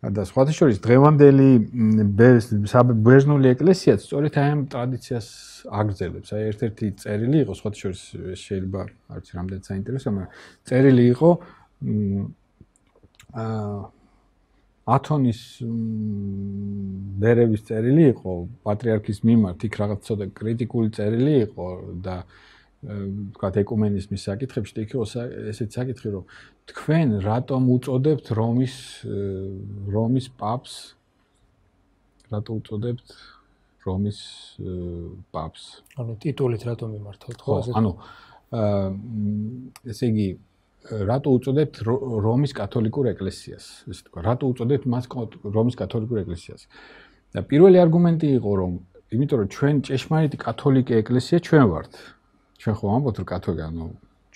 და სხვათა შორის დღევანდელი ბერძნული ეკლესიაც სწორედ აი ამ ტრადიციას აგრძელებს. აი ერთ-ერთი წერილი იყო, სხვათა შორის შეიძლება არ ვიცი რამდენად საინტერესოა, მაგრამ წერილი იყო აა ათონის ბერების წერილი იყო პატრიარქის მიმართ, იქ რაღაც ცოტა კრიტიკული წერილი იყო და ვთქვათ ეკუმენიზმის საკითხებში, იქ იყო ესეთი საკითხი, რომ თქვენ რატომ უწოდებთ რომის რომის პაპს რატო უწოდებთ რომის პაპს? ანუ ტიტულით რატომ მიმართავთ, ხო, ანუ ესე იგი რატო უწოდებთ რომის კათოლიკურ ეკლესიას, ესე თქვა, რატო უწოდებთ მას რომის კათოლიკურ ეკლესიას? და პირველი არგუმენტი იყო, რომ იმიტომ რომ ჩვენ ჭეშმარიტი კათოლიკე ეკლესია ჩვენ ვართ. ჩვენ ხო ამბობთ რომ კათოლიკე, ანუ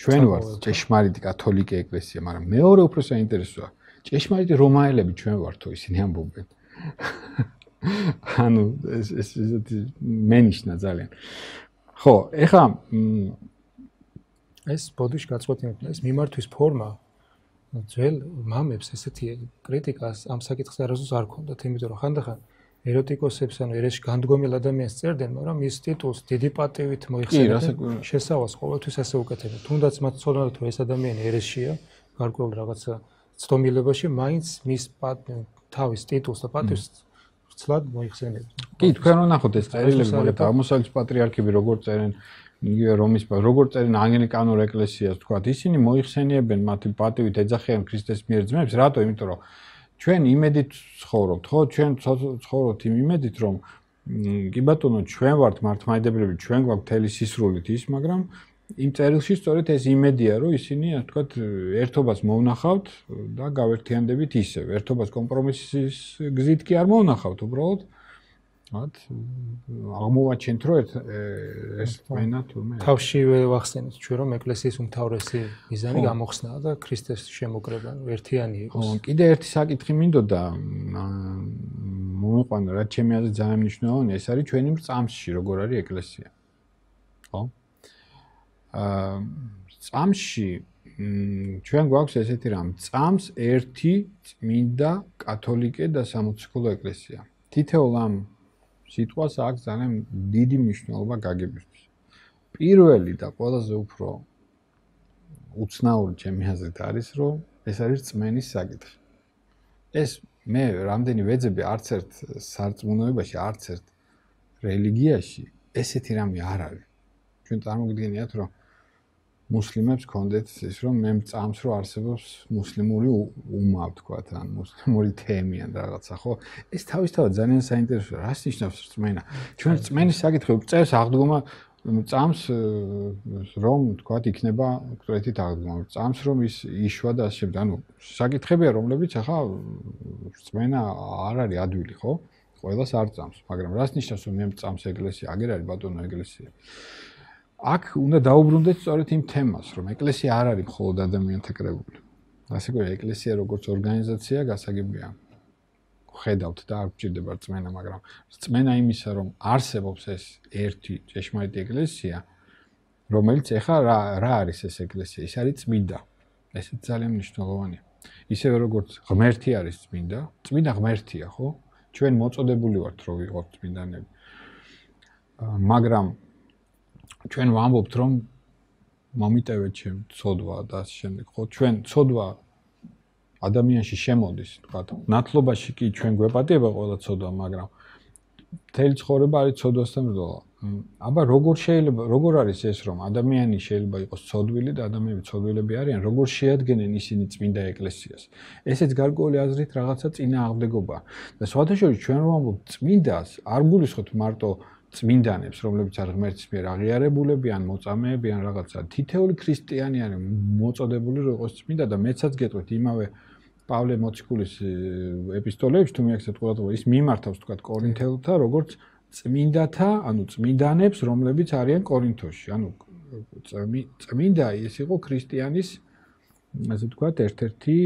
ჩვენ ვართ ჭეშმარიტი კათოლიკე ეკლესია, მაგრამ მეორე უფრო საინტერესოა, ჭეშმარიტი რომაელები ჩვენ ვართო, ისინი ამბობენ. ანუ ეს ეს ესეთი მენიშნა ძალიან. ხო, ეხლა ეს ბოდიში გაწყვეტილებდა, ეს მიმართვის ფორმა ძველ მამებს ესეთი კრიტიკას ამ საკითხს არასდროს არ ქონდათ, იმიტომ რომ ხანდახან ეროტიკოსებს ანუ ერესში განდგომილ ადამიანს წერდნენ, მაგრამ ის ტიტულს დიდი პატივით მოიხსენებდნენ, შესავალს ყოველთვის ასე უკეთებდნენ. თუნდაც მათ ცოდნათ რომ ეს ადამიანი ერესშია, გარკვეულ რაღაცა ცდომილებაში, მაინც მის თავის ტიტულს და პატივს ცლად მოიხსენებდნენ. კი, თქვენ რომ ნახოთ ეს წერილები, მაგათ აღმოსავლეთის პატრიარქები როგორ წერენ, იგივე რომის როგორ წერენ ანგლიკანურ ეკლესიას, თქვათ, ისინი მოიხსენიებენ მათი პატივით ეძახიან ქრისტეს მიერ ძმებს, რატო? იმიტომ რომ ჩვენ იმედით ცხოვრობთ, ხო? ჩვენ ცხოვრობთ იმ იმედით, რომ კი ბატონო, ჩვენ ვართ მართლმადიდებლები, ჩვენ გვაქვს მთელი სისრულით ის, მაგრამ იმ წერილში სწორედ ეს იმედია, რომ ისინი, ასე ვთქვათ, ერთობას მოვნახავთ და გავერთიანდებით ისევ. ერთობას კომპრომისის გზით კი არ მოვნახავთ, უბრალოდ მათ აღმოვაჩენთ, რომ ეს მენა თურმე თავშივე ვახსენეთ ჩვენ, რომ ეკლესიის უმთავრესი მიზანი გამოხსნა და ქრისტეს შემოკრება, ერთიანი იყოს. ხო, კიდე ერთი საკითხი მინდოდა მომიყვანა, რაც ჩემი აზრით ძალიან მნიშვნელოვანია, ეს არის ჩვენი წამსში, როგორ არის ეკლესია. ხო? აა წამსში ჩვენ გვაქვს ესეთი რამ, წამს ერთი წმინდა კათოლიკე და სამოციქულო ეკლესია. თითოეულ ამ სიტყვას აქვს ძალიან დიდი მნიშვნელობა გაგებისთვის. პირველი და ყველაზე უფრო უცნაური ჩემი აზრით არის, რომ ეს არის რწმენის საკითხი. ეს მე რამდენი ვეძებდი არც ერთ სარწმუნოებაში, არც ერთ რელიგიაში ესეთი რამე არ არის. ჩვენ წარმოგიდგენიათ, რომ მუსლიმებს ქონდეთ ის, რომ მე წამს რო არსებობს მუსლიმური უმა, ვთქვათ, ან მუსლიმური თემი ან რაღაცა, ხო? ეს თავისთავად ძალიან საინტერესოა. რას ნიშნავს რწმენა? ჩვენ რწმენის საკითხი წერს აღდგომა წამს რომ, ვთქვათ, იქნება კრეტით აღდგომა. წამს რომ ის იშვა და ასე შემდეგ. ანუ საკითხებია, რომლებიც ახლა რწმენა არ არის ადვილი, ხო? ყველას არ წამს, მაგრამ რას ნიშნავს რომ მე წამს ეკლესია? აგერ არის ბატონო ეკლესია. აქ უნდა დაუბრუნდეთ სწორედ იმ თემას, რომ ეკლესია არ არის მხოლოდ ადამიანთა კრებული. ასე რომ ეკლესია როგორც ორგანიზაცია გასაგებია. ხედავთ და არ გჭირდება რწმენა, მაგრამ რწმენა იმისა, რომ არსებობს ეს ერთი ჭეშმარიტი ეკლესია, რომელიც ეხლა რა რა არის ეს ეკლესია? ის არის წმინდა. ესეც ძალიან მნიშვნელოვანია. ისევე როგორც ღმერთი არის წმინდა, წმინდა ღმერთია, ხო? ჩვენ მოწოდებული ვართ რომ ვიყოთ წმინდანები. მაგრამ ჩვენ ვამბობთ რომ მომიტევეთ ჩემ ცოდვა და ასე შემდეგ, ხო? ჩვენ ცოდვა ადამიანში შემოდის, თქვა, ნათლობაში კი ჩვენ გვეპატიება ყველა ცოდვა, მაგრამ მთელი ცხოვრება არის ცოდვასთან ბრძოლა. აბა როგორ შეიძლება, როგორ არის ეს, რომ ადამიანი შეიძლება იყოს ცოდვილი და ადამიანები ცოდვილები არიან, როგორ შეადგენენ ისინი წმინდა ეკლესიას? ესეც გარკვეული აზრით რაღაცა წინააღმდეგობაა. და სხვათა შორის ჩვენ რომ ვამბობთ წმინდას, არ გულისხმობთ მარტო წმინდანებს, რომლებიც არ ღმერთის მიერ აღიარებულები ან მოწამეები ან რაღაცა. თითოეული ქრისტიანი არის მოწოდებული რომ იყოს წმინდა და მეცაც გეტყვით იმავე პავლე მოციქულის ეპისტოლეებში თუ მიახსენებთ ყურადღება, ის მიმართავს თქვა კორინთელთა როგორც წმინდათა, ანუ წმინდანებს, რომლებიც არიან კორინთოში. ანუ წმინდა ის იყო ქრისტიანის ასე ვთქვათ, ერთ-ერთი,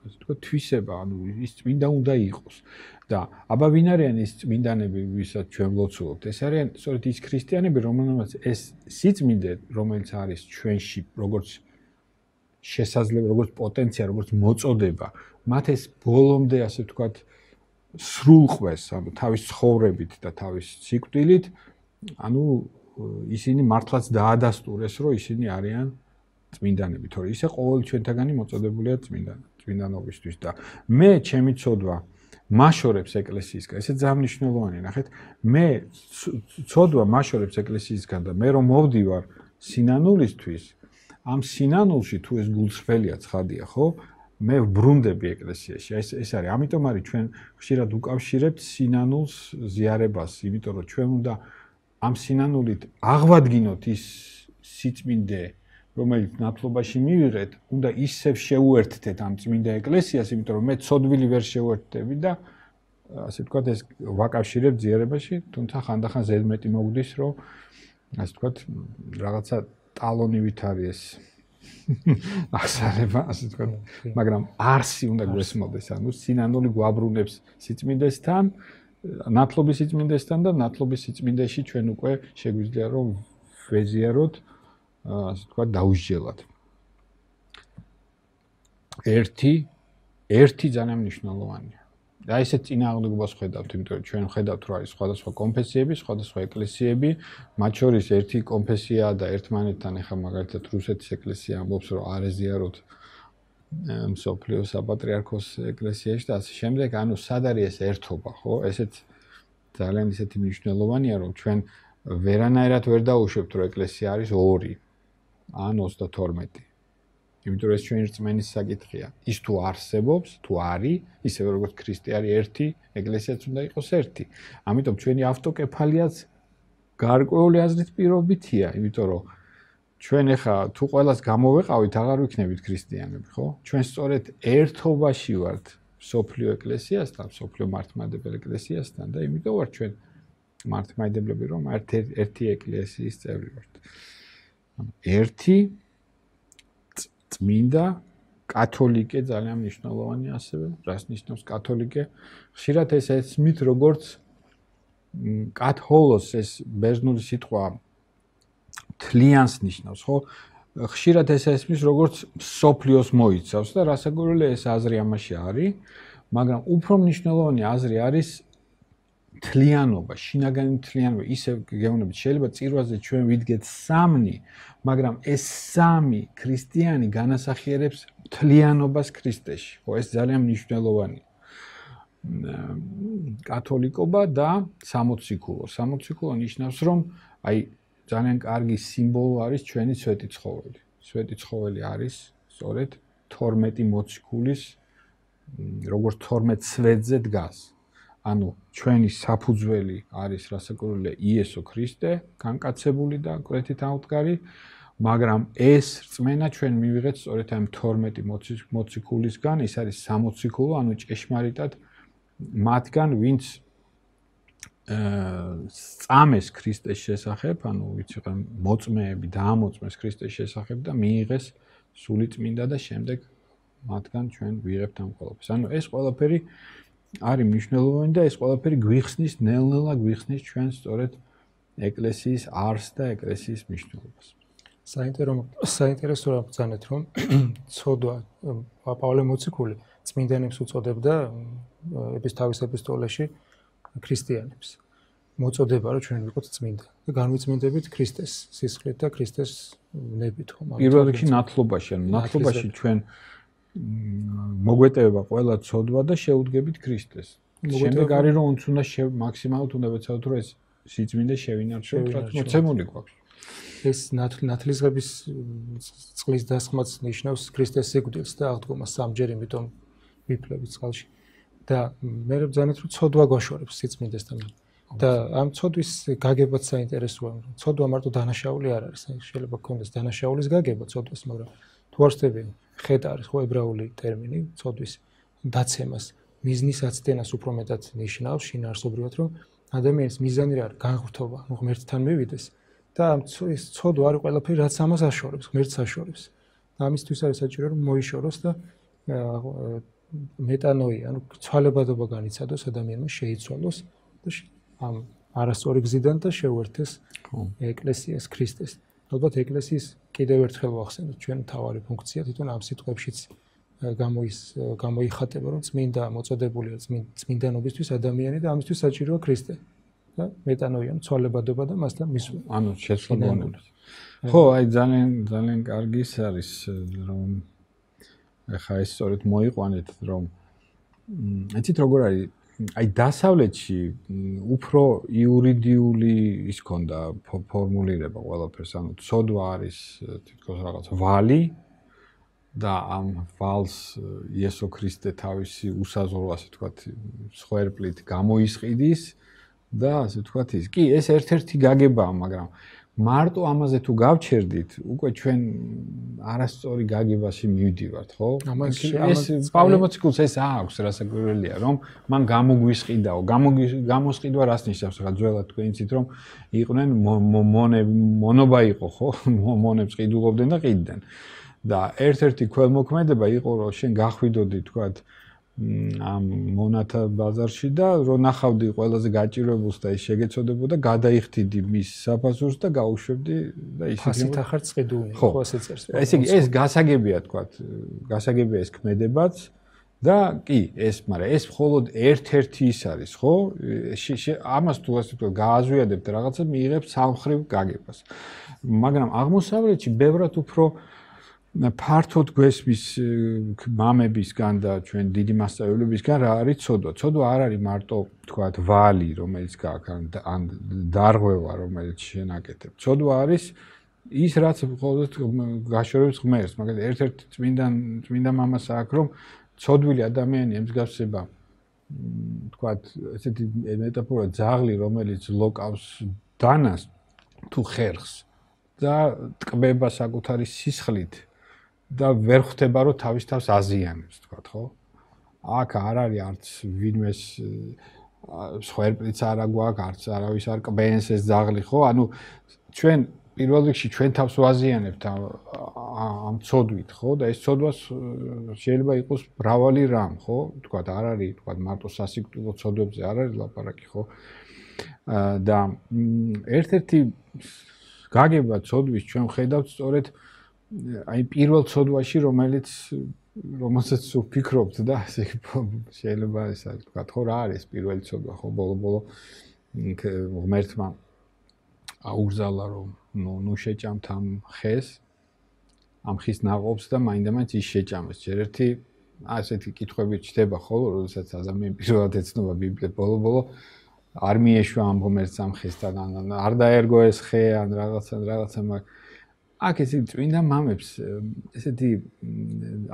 ასე ვთქვათ, თვისება, ანუ ის წმინდა უნდა იყოს. და აბა ვინ არიან ის წმინდანები, ვისაც ჩვენ ვლოცულობთ? ეს არიან სწორედ ის ქრისტიანები, რომელთაც ეს სიწმინდე, რომელიც არის ჩვენში, როგორც შესაძლებელი, როგორც პოტენცია, როგორც მოწოდება, მათ ეს ბოლომდე, ასე ვთქვათ, სრულყვეს, ანუ თავის ცხოვრებით და თავის სიკვდილით, ანუ ისინი მართლაც დაადასტურეს, რომ ისინი არიან წმინდანები, თორე ისე ყოველი ჩვენთაგანი მოწოდებულია წმინდანად, წმინდანობისთვის და მე ჩემი ცოდვა მაშორებს ეკლესიისგან, ესე ძალიან მნიშვნელოვანია, ნახეთ, მე ცოდვა მაშორებს ეკლესიისგან და მე რომ მოვდივარ სინანულისთვის, ამ სინანულში თუ ეს გულწრფელია ცხადია, ხო? მე ვბრუნდები ეკლესიაში. ეს ეს არის, ამიტომ არის ჩვენ ხშირად უკავშირებთ სინანულს ზიარებას, იმიტომ რომ ჩვენ უნდა ამ სინანულით აღვადგინოთ ის სიწმინდე, რომელიც ნათლობაში მივიღეთ, უნდა ისევ შეუერთდეთ ამ წმინდა ეკლესიას, იმიტომ რომ მე ცოდვილი ვერ შეუერთდები და ასე ვთქვათ, ეს ვაკავშირებ ზიარებაში, თუმცა ხანდახან ზედმეტი მოგდის, რომ ასე ვთქვათ, რაღაცა ტალონივით არის ეს აღსარება, ასე ვთქვათ, მაგრამ არსი უნდა გვესმოდეს, ანუ სინანული გვაბრუნებს სიწმინდესთან, ნათლობის სიწმინდესთან და ნათლობის სიწმინდეში ჩვენ უკვე შეგვიძლია რომ ვეზიაროთ, ასე ვთქვათ, დაუსჯელად. ერთი, ერთი ძალიან მნიშვნელოვანია. და ესე წინააღმდეგობას ხედავთ, იმიტომ რომ ჩვენ ხედავთ, რომ არის სხვადასხვა კონფესიები, სხვადასხვა ეკლესიები, მათ შორის ერთი კონფესია და ერთმანეთთან ახლა მაგალითად რუსეთის ეკლესია ამბობს, რომ არ ეზიაროთ მსოფლიოს საპატრიარქოს ეკლესიაში და ასე შემდეგ, ანუ სად არის ეს ერთობა, ხო? ესეც ძალიან ისეთი მნიშვნელოვანია, რომ ჩვენ ვერანაირად ვერ დაუშვებთ, რომ ეკლესია არის ორი ან ოცდათორმეტი. იმიტომ რომ ეს ჩვენი რწმენის საკითხია. ის თუ არსებობს, თუ არის, ისევე როგორც ქრისტე არის ერთი, ეკლესიაც უნდა იყოს ერთი. ამიტომ ჩვენი ავტოკეფალიაც გარკვეული აზრით პირობითია, იმიტომ რომ ჩვენ ახლა თუ ყველას გამოვეყავით, აღარ ვიქნებით ქრისტიანები, ხო? ჩვენ სწორედ ერთობაში ვართ სოფლიო ეკლესიასთან, სოფლიო მართლმადიდებელ ეკლესიასთან და იმიტომ ვართ ჩვენ მართლმადიდებლები, რომ ერთი ეკლესიის წევრი ვართ. ერთი წმინდა კათოლიკე ძალიან მნიშვნელოვანია ასევე, რას ნიშნავს კათოლიკე? ხშირად ეს ესმით როგორც კათოლოს ეს ბერძნული სიტყვა თლიანს ნიშნავს, ხო? ხშირად ეს ესმის როგორც სოფლიოს მოიცავს და რასაკვირველია ეს აზრი ამაში არის, მაგრამ უფრო მნიშვნელოვანი აზრი არის თლიანობა, შინაგანი თლიანობა, ისე გეუბნებით, შეიძლება წირვაზე ჩვენ ვიდგეთ სამნი, მაგრამ ეს სამი ქრისტიანი განასახიერებს თლიანობას ქრისტეში. ხო, ეს ძალიან მნიშვნელოვანია. კათოლიკობა და სამოციქულო. სამოციქულო ნიშნავს, რომ აი ძალიან კარგი სიმბოლო არის ჩვენი სვეტი ცხოველი. სვეტი ცხოველი არის სწორედ თორმეტი მოციქულის, როგორც თორმეტ სვეტზე დგას. ანუ ჩვენი საფუძველი არის რასაკვირველია იესო ქრისტე, განკაცებული და კვეთით აუდგარი, მაგრამ ეს რწმენა ჩვენ მივიღეთ სწორედ ამ თორმეტი მოციქულისგან, ის არის სამოციქულო, ანუ ჭეშმარიტად მათგან, ვინც სწამეს ქრისტეს შესახებ, ანუ ვინც იყო მოწმეები, დაამოწმეს ქრისტეს შესახებ და მიიღეს სული წმინდა და შემდეგ მათგან ჩვენ ვიღებთ ამ ყველაფერს. ანუ ეს ყველაფერი არის მნიშვნელოვანი და ეს ყველაფერი გვიხსნის, ნელ-ნელა გვიხსნის ჩვენ სწორედ ეკლესიის არსს და ეკლესიის მნიშვნელობას. საინტერესო რა ბრძანეთ, რომ ცოდვა პავლე მოციქული წმინდანებს უწოდებდა თავის ეპისტოლეში ქრისტიანებს. მოწოდება, რომ ჩვენ ვიყოთ წმინდა და განვიწმინდებით ქრისტეს სისხლით და ქრისტეს ნებით, ხომ? პირველ რიგში ნათლობაში, ანუ ნათლობაში ჩვენ მოგვეტევება ყველა ცოდვა და შეუდგებით ქრისტეს. შემდეგ არის რომ uns უნდა მაქსიმალურად უნდა ვეცადოთ რომ ეს სიწმინდე შევინარჩუნოთ, რაც მოცემული გვაქვს. ეს ნათლისღების წყლის დასხმაც ნიშნავს ქრისტეს სიკვდილს და აღდგომას სამჯერ, იმიტომ ვიფლებით წყალში. და მე ვბრძანეთ რომ ცოდვა გვაშორებს სიწმინდესთან. და ამ ცოდვის გაგებაც საინტერესოა. ცოდვა მარტო დანაშაული არ არის, შეიძლება გქონდეს დანაშაულის გაგება ცოდვას, მაგრამ თუ არ ვსწრები, ხედ არის ხო ებრაული ტერმინი ცოდვის დაცემას, მიზნის აცდენას უფრო მეტად ნიშნავს შინაარსობრივად, რომ ადამიანის მიზანი რა არის? განღრთობა, ღმერთთან მივიდეს და ამ ცოდვა არის ყველაფერი, რაც ამას აშორებს, ღმერთს აშორებს. ამისთვის არის საჭირო რომ მოიშოროს და მეტანოი, ანუ ცვალებადობა განიცადოს ადამიანმა, შეიცვალოს და ამ არასწორი გზიდან და შეუერთეს ეკლესიას ქრისტეს. ალბათ ეკლესიის კიდევ ერთხელ ვახსენოთ ჩვენ მთავარი ფუნქცია თვითონ ამ სიტყვებშიც გამოის გამოიხატება რომ წმინდა მოწოდებულია წმინდანობისთვის ადამიანი და ამისთვის საჭიროა ქრისტე და მეტანოი, ანუ ცვალებადობა და მასთან მისვლა. ანუ შეცვალებადობა. ხო, აი ძალიან ძალიან კარგი არის რომ ახლა ეს სწორედ მოიყვანეთ რომ იცით როგორ არის აი დასავლეთში უფრო იურიდიული ის ქონდა ფორმულირება ყველაფერს ანუ ცოდვა არის თითქოს რაღაც ვალი და ამ ვალს იესო ქრისტე თავისი უსაზღვრო ასე ვთქვათ სხერპლით გამოისყიდის და ასე ვთქვათ ის კი ეს ერთ-ერთი გაგებაა მაგრამ მარტო ამაზე თუ გავჩერდით, უკვე ჩვენ არასწორი გაგებაში მივდივართ, ხო? ეს პავლე მოციქულს ეს აქვს, რასაკვირველია, რომ მან გამოგვისყიდაო, გამოსყიდვა რას ნიშნავს, რა ძველად თქვენ იცით, რომ იყვნენ მონობა იყო, ხო? მონებს ყიდულობდნენ და ყიდდნენ. და ერთ-ერთი ქველმოქმედება იყო, რომ შენ გახვიდოდი, თქვათ, ამ მონათა ბაზარში და რო ნახავდი ყველაზე გაჭირებულს და ის შეგეცოდებოდა გადაიხდიდი მის საფასურს და გაუშვებდი და ისე ფასით ახარ წყიდული ხო ასე წერს ესე იგი ეს გასაგებია თქვათ გასაგებია ეს ქმედებაც და კი ეს მაგრამ ეს მხოლოდ ერთ-ერთი ის არის ხო ამას თუ ასე ვთქვათ გააზვიადებთ რაღაცა მიიღებთ სამხრივ გაგებას მაგრამ აღმოსავლეთში ბევრად უფრო ფართოდ გვესმის მამებისგან და ჩვენ დიდი მასწავლებლებისგან რა არის ცოდვა. ცოდვა არ არის მარტო თქვათ ვალი, რომელიც გაქვს ან დარღვევა, რომელიც შენაკეთებ. ცოდვა არის ის რაც მხოლოდ გაშორებს ღმერთს. მაგალითად ერთ-ერთი წმინდა წმინდა მამას აქვს რომ ცოდვილი ადამიანი ემსგავსება თქვათ ესეთი მეტაფორა ძაღლი, რომელიც ლოკავს დანას თუ ხერხს და ტკბება საკუთარი სისხლით და ვერ ხვდება რომ თავის თავს აზიანებს თქვათ ხო? აქ არ არის არც ვინმეს სხერპლიც არ აგვაქვს, არც არავის არ კბენს ეს ძაღლი ხო? ანუ ჩვენ პირველ რიგში ჩვენ თავს ვაზიანებთ ამ ცოდვით ხო? და ეს ცოდვა შეიძლება იყოს მრავალი რამ ხო? თქვათ არ არის თქვათ მარტო სასიკვდილო ცოდვებზე არ არის ლაპარაკი ხო? და ერთ-ერთი გაგება ცოდვის ჩვენ ხედავთ სწორედ აი პირველ ცოდვაში რომელიც რომელსაც ვფიქრობთ და ასე შეიძლება ეს არის თქვა ხო რა არის პირველი ცოდვა ხო ბოლო-ბოლო ღმერთმა აუგზავნა რომ ნუ ნუ შეჭამთ ამ ხეს ამ ხის ნაყოფს და მაინდა-მაინც ის შეჭამეს ჯერ ერთი ასეთი კითხვები ჩდება ხოლო როდესაც ადამიანი პირველად ეცნობა ბიბლიას ბოლო-ბოლო არ მიეშვა ამ ღმერთს ამ ხესთან არ დაერგო ეს ხე ან რაღაცა რაღაცა მაგ აქ ესე წმინდა მამებს ესეთი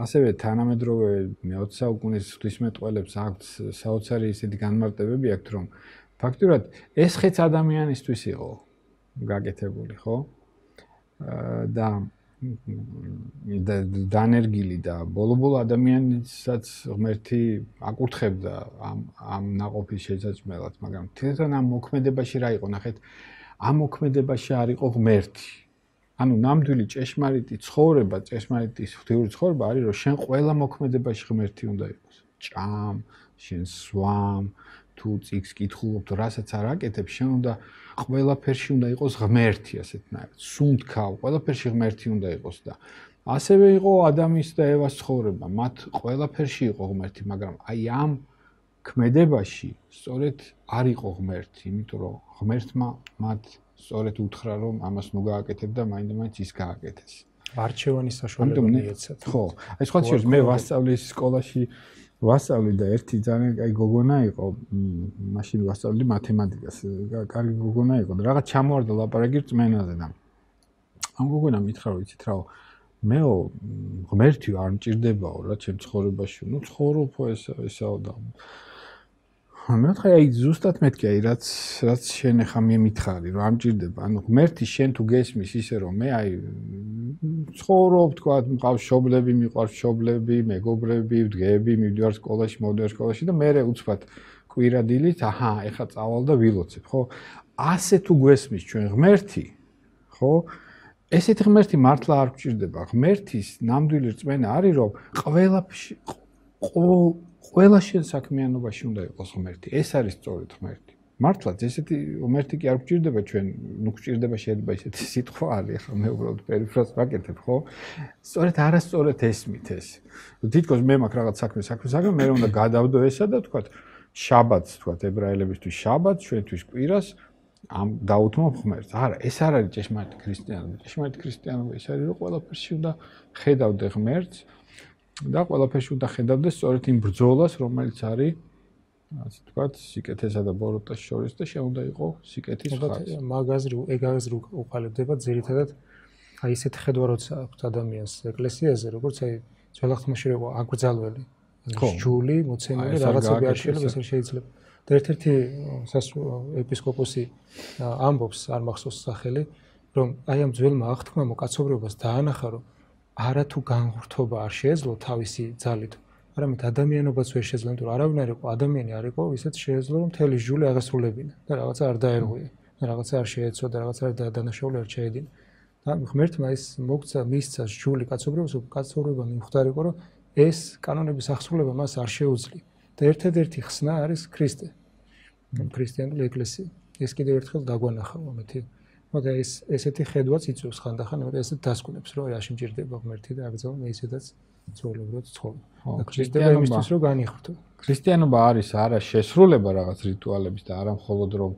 ასევე თანამედროვე მეოცე საუკუნის ღვთისმეტყველებს აქვთ საოცარი ესეთი განმარტებები აქვთ რომ ფაქტურად ეს ხეც ადამიანისთვის იყო გაკეთებული ხო და დანერგილი და ბოლო-ბოლო ადამიანსაც ღმერთი აკურთხებდა ამ ამ ნაყოფის შესაჭმელად მაგრამ თვითონ ამ მოქმედებაში რა იყო ნახეთ ამ მოქმედებაში არ იყო ღმერთი ანუ ნამდვილი ჭეშმარიტი ცხოვრება, ჭეშმარიტი ღვთიური ცხოვრება არის, რომ შენ ყველა მოქმედებაში ღმერთი უნდა იყოს. ჭამ, შენ სვამ, თუ წიგს კითხულობ, რასაც არ აკეთებ, შენ უნდა ყველაფერში უნდა იყოს ღმერთი, ასეთნაირად. სუნთქავ, ყველაფერში ღმერთი უნდა იყოს და ასევე იყო ადამის და ევას ცხოვრება, მათ ყველაფერში იყო ღმერთი, მაგრამ აი ამ ქმედებაში სწორედ არ იყო ღმერთი, იმიტომ რომ ღმერთმა მათ სწორედ უთხრა რომ ამას ნუ გააკეთებ და მაინდა-მაინც ის გააკეთეს. არჩევანის საშუალება მიეცათ. ხო, აი სხვა შეიძლება მე ვასწავლე სკოლაში ვასწავლე და ერთი ძალიან აი გოგონა იყო, მაშინ ვასწავლე მათემატიკას. კარგი გოგონა იყო და რაღაც ჩამოვარდა ლაპარაკი რწმენაზე და ამ გოგონამ მითხრა რომ იცით რაო მეო ღმერთი არ მჭირდებაო რა ჩემ ცხოვრებაში. ნუ ცხოვრობო ესა ესაო და მე ვთქვი აი ზუსტად მეთქი აი რაც რაც შენ ახლა მე მითხარი რომ ამჭირდება ანუ ღმერთი შენ თუ გესმის ისე რომ მე აი ცხოვრობ თქვა მყავს შობლები მიყვარს შობლები მეგობრები ვდგები მივდივარ სკოლაში მოვდივარ სკოლაში და მე უცბად კვირადილით აჰა ეხლა წავალ და ვილოცებ ხო ასე თუ გესმის ჩვენ ღმერთი ხო ესეთი ღმერთი მართლა არ გვჭირდება. ღმერთის ნამდვილი რწმენა არის, რომ ყველა ყველა შენ საქმიანობაში უნდა იყოს ღმერთი. ეს არის სწორედ ღმერთი. მართლაც ესეთი ღმერთი კი არ გვჭირდება ჩვენ, ნუ გვჭირდება შეიძლება ესეთი სიტყვა არის, ხო, მე უბრალოდ პერიფრაზს ვაკეთებ, ხო? სწორედ არასწორად ესმით ეს. თითქოს მე მაქვს რაღაც საქმე, საქმე, საქმე, მე უნდა გადავდო ესა და თქვა შაბათს, თქვა ებრაელებისთვის შაბათს, ჩვენთვის კვირას ამ დაუთმობ ღმერთს. არა, ეს არ არის ჭეშმარიტი ქრისტიანობა. ჭეშმარიტი ქრისტიანობა ის არის, რომ ყველაფერში უნდა ხედავდე ღმერთს და ყველაფერში უნდა ხედავდე სწორედ იმ ბრძოლას, რომელიც არის ასე ვთქვათ, სიკეთესა და ბოროტას შორის და შეუნდა იყო სიკეთის ხაზი. მაგაზრი, ეგ აზრი უყალიბდება ძირითადად აი ესეთ ხედვა როცა აქვს ადამიანს ეკლესიაზე, როგორც აი ძველ ხმაში იყო აკრძალველი. ჯული, მოცემული რაღაცები არ შეიძლება, ეს არ შეიძლება. და ერთ-ერთი ეპისკოპოსი ამბობს, არ მახსოვს სახელი, რომ აი ამ ძველმა აღთქმამ კაცობრიობას დაანახა, რომ არათუ განღურთობა არ შეეძლო თავისი ძალით. არამედ ადამიანობაც ვერ შეძლო, იმიტომ რომ არავინ არ იყო, ადამიანი არ იყო, ისეთ შეეძლო, რომ მთელი ჟული აღესრულებინა და რაღაცა არ დაერღვია, და რაღაცა არ შეეცვა და რაღაცა არ დანაშაული არ ჩაედინა. და ღმერთმა ის მოგცა, მისცა ჟული კაცობრიობას, კაცობრიობა მიმხვდარ იყო, რომ ეს კანონების აღსრულება მას არ შეუძლია. და ერთადერთი ხსნა არის ქრისტე. ქრისტიანული ეკლესია. ეს კიდევ ერთხელ დაგვანახა მომეთი. მაგრამ ეს ესეთი ხედვაც იწვევს ხანდახან, მაგრამ ესეთ დასკვნებს, რომ აი შემჭირდება ღმერთი და აკრძალვა მე ისედაც ცხოვრობთ ცხოვრობ. და ქრისტიანობა იმისთვის რომ განიხვრთო. ქრისტიანობა არის არა შესრულება რაღაც რიტუალების და არა მხოლოდ რომ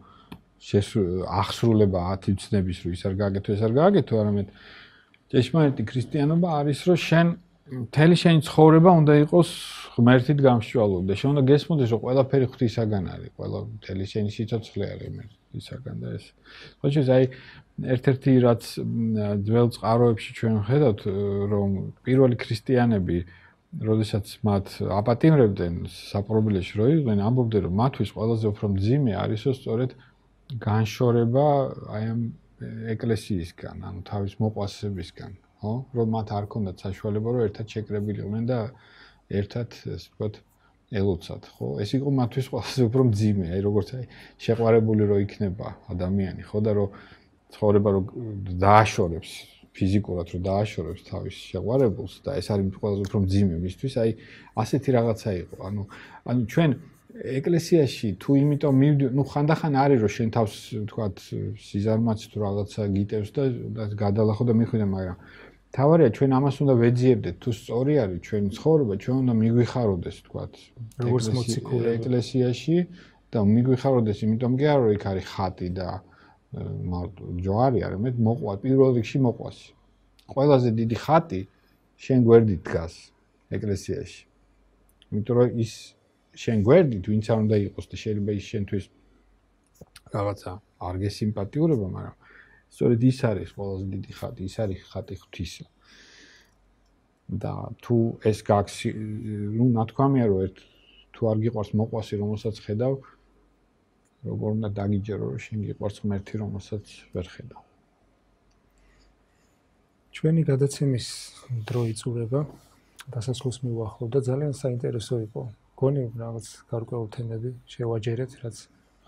აღსრულება ათი ცნების რომ ის არ გააკეთო, ეს არ გააკეთო, არამედ ჭეშმარიტი ქრისტიანობა არის რომ შენ მთელი შენი ცხოვრება უნდა იყოს ღმერთით გამსჭვალული და შენ უნდა გესმოდეს რომ ყველაფერი ღვთისაგან არის, ყველა მთელი შენი სიცოცხლე არის ღმერთისაგან და ეს. ხო შეიძლება აი ერთ-ერთი რაც ძველ წყაროებში ჩვენ ვხედავთ რომ პირველი ქრისტიანები როდესაც მათ აპატიმრებდნენ საპყრობილეში რო იყვნენ, ამბობდნენ რომ მათთვის ყველაზე უფრო მძიმე არისო სწორედ განშორება აი ამ ეკლესიისგან, ანუ თავის მოყვასებისგან. ხო, რომ მათ არ ქონდათ საშუალება, რომ ერთად შეკრებილიყვნენ და ერთად, ასე ვთქვათ, ელოცათ, ხო? ეს იყო მათთვის ყველაზე უფრო მძიმე, აი როგორც აი შეყვარებული რო იქნება ადამიანი, ხო და რომ ცხოვრება რო დააშორებს, ფიზიკურად რო დააშორებს თავის შეყვარებულს და ეს არის ყველაზე უფრო მძიმე მისთვის, აი ასეთი რაღაცა იყო. ანუ ანუ ჩვენ ეკლესიაში თუ იმიტომ მივდივარ, ნუ ხანდახან არის რომ შენ თავს, ვთქვათ, სიზარმაც თუ რაღაცა გიტევს და გადალახო და მიხვიდე, მაგრამ თავარია ჩვენ ამას უნდა ვეძიებდეთ, თუ სწორი არის ჩვენი ცხოვრება, ჩვენ უნდა მიგვიხაროდეს, ვთქვათ, როგორც მოციქული ეკლესიაში და მიგვიხაროდეს, იმიტომ კი არა რომ იქ არის ხატი და ჯვარი, არამედ მოყვა, პირველ რიგში მოყვასი. ყველაზე დიდი ხატი შენ გვერდით დგას ეკლესიაში. იმიტომ რომ ის შენ გვერდით ვინც არ უნდა იყოს და შეიძლება ის შენთვის რაღაცა არ გესიმპათიურება, მაგრამ სწორედ ის არის ყველაზე დიდი ხატი, ის არის ხატი ღვთისა. და თუ ეს გაქვს, ნუ ნათქვამია რომ ერთ თუ არ გიყვარს მოყვასი, რომელსაც ხედავ, როგორ უნდა დაგიჯერო რომ შენ გიყვარს ღმერთი, რომელსაც ვერ ხედავ. ჩვენი გადაცემის დრო იწურება, დასასრულს მივახლოვ და ძალიან საინტერესო იყო. გონი რაღაც გარკვეულ თემები შევაჯერეთ, რაც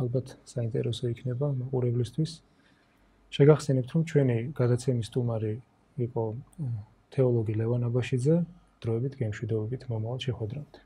ალბათ საინტერესო იქნება მაყურებლისთვის. შეგახსენებთ, რომ ჩვენი გადაცემის სტუმარი იყო თეოლოგი ლევან აბაშიძე, დროებით გემშვიდობებით მომავალ შეხვედრამდე.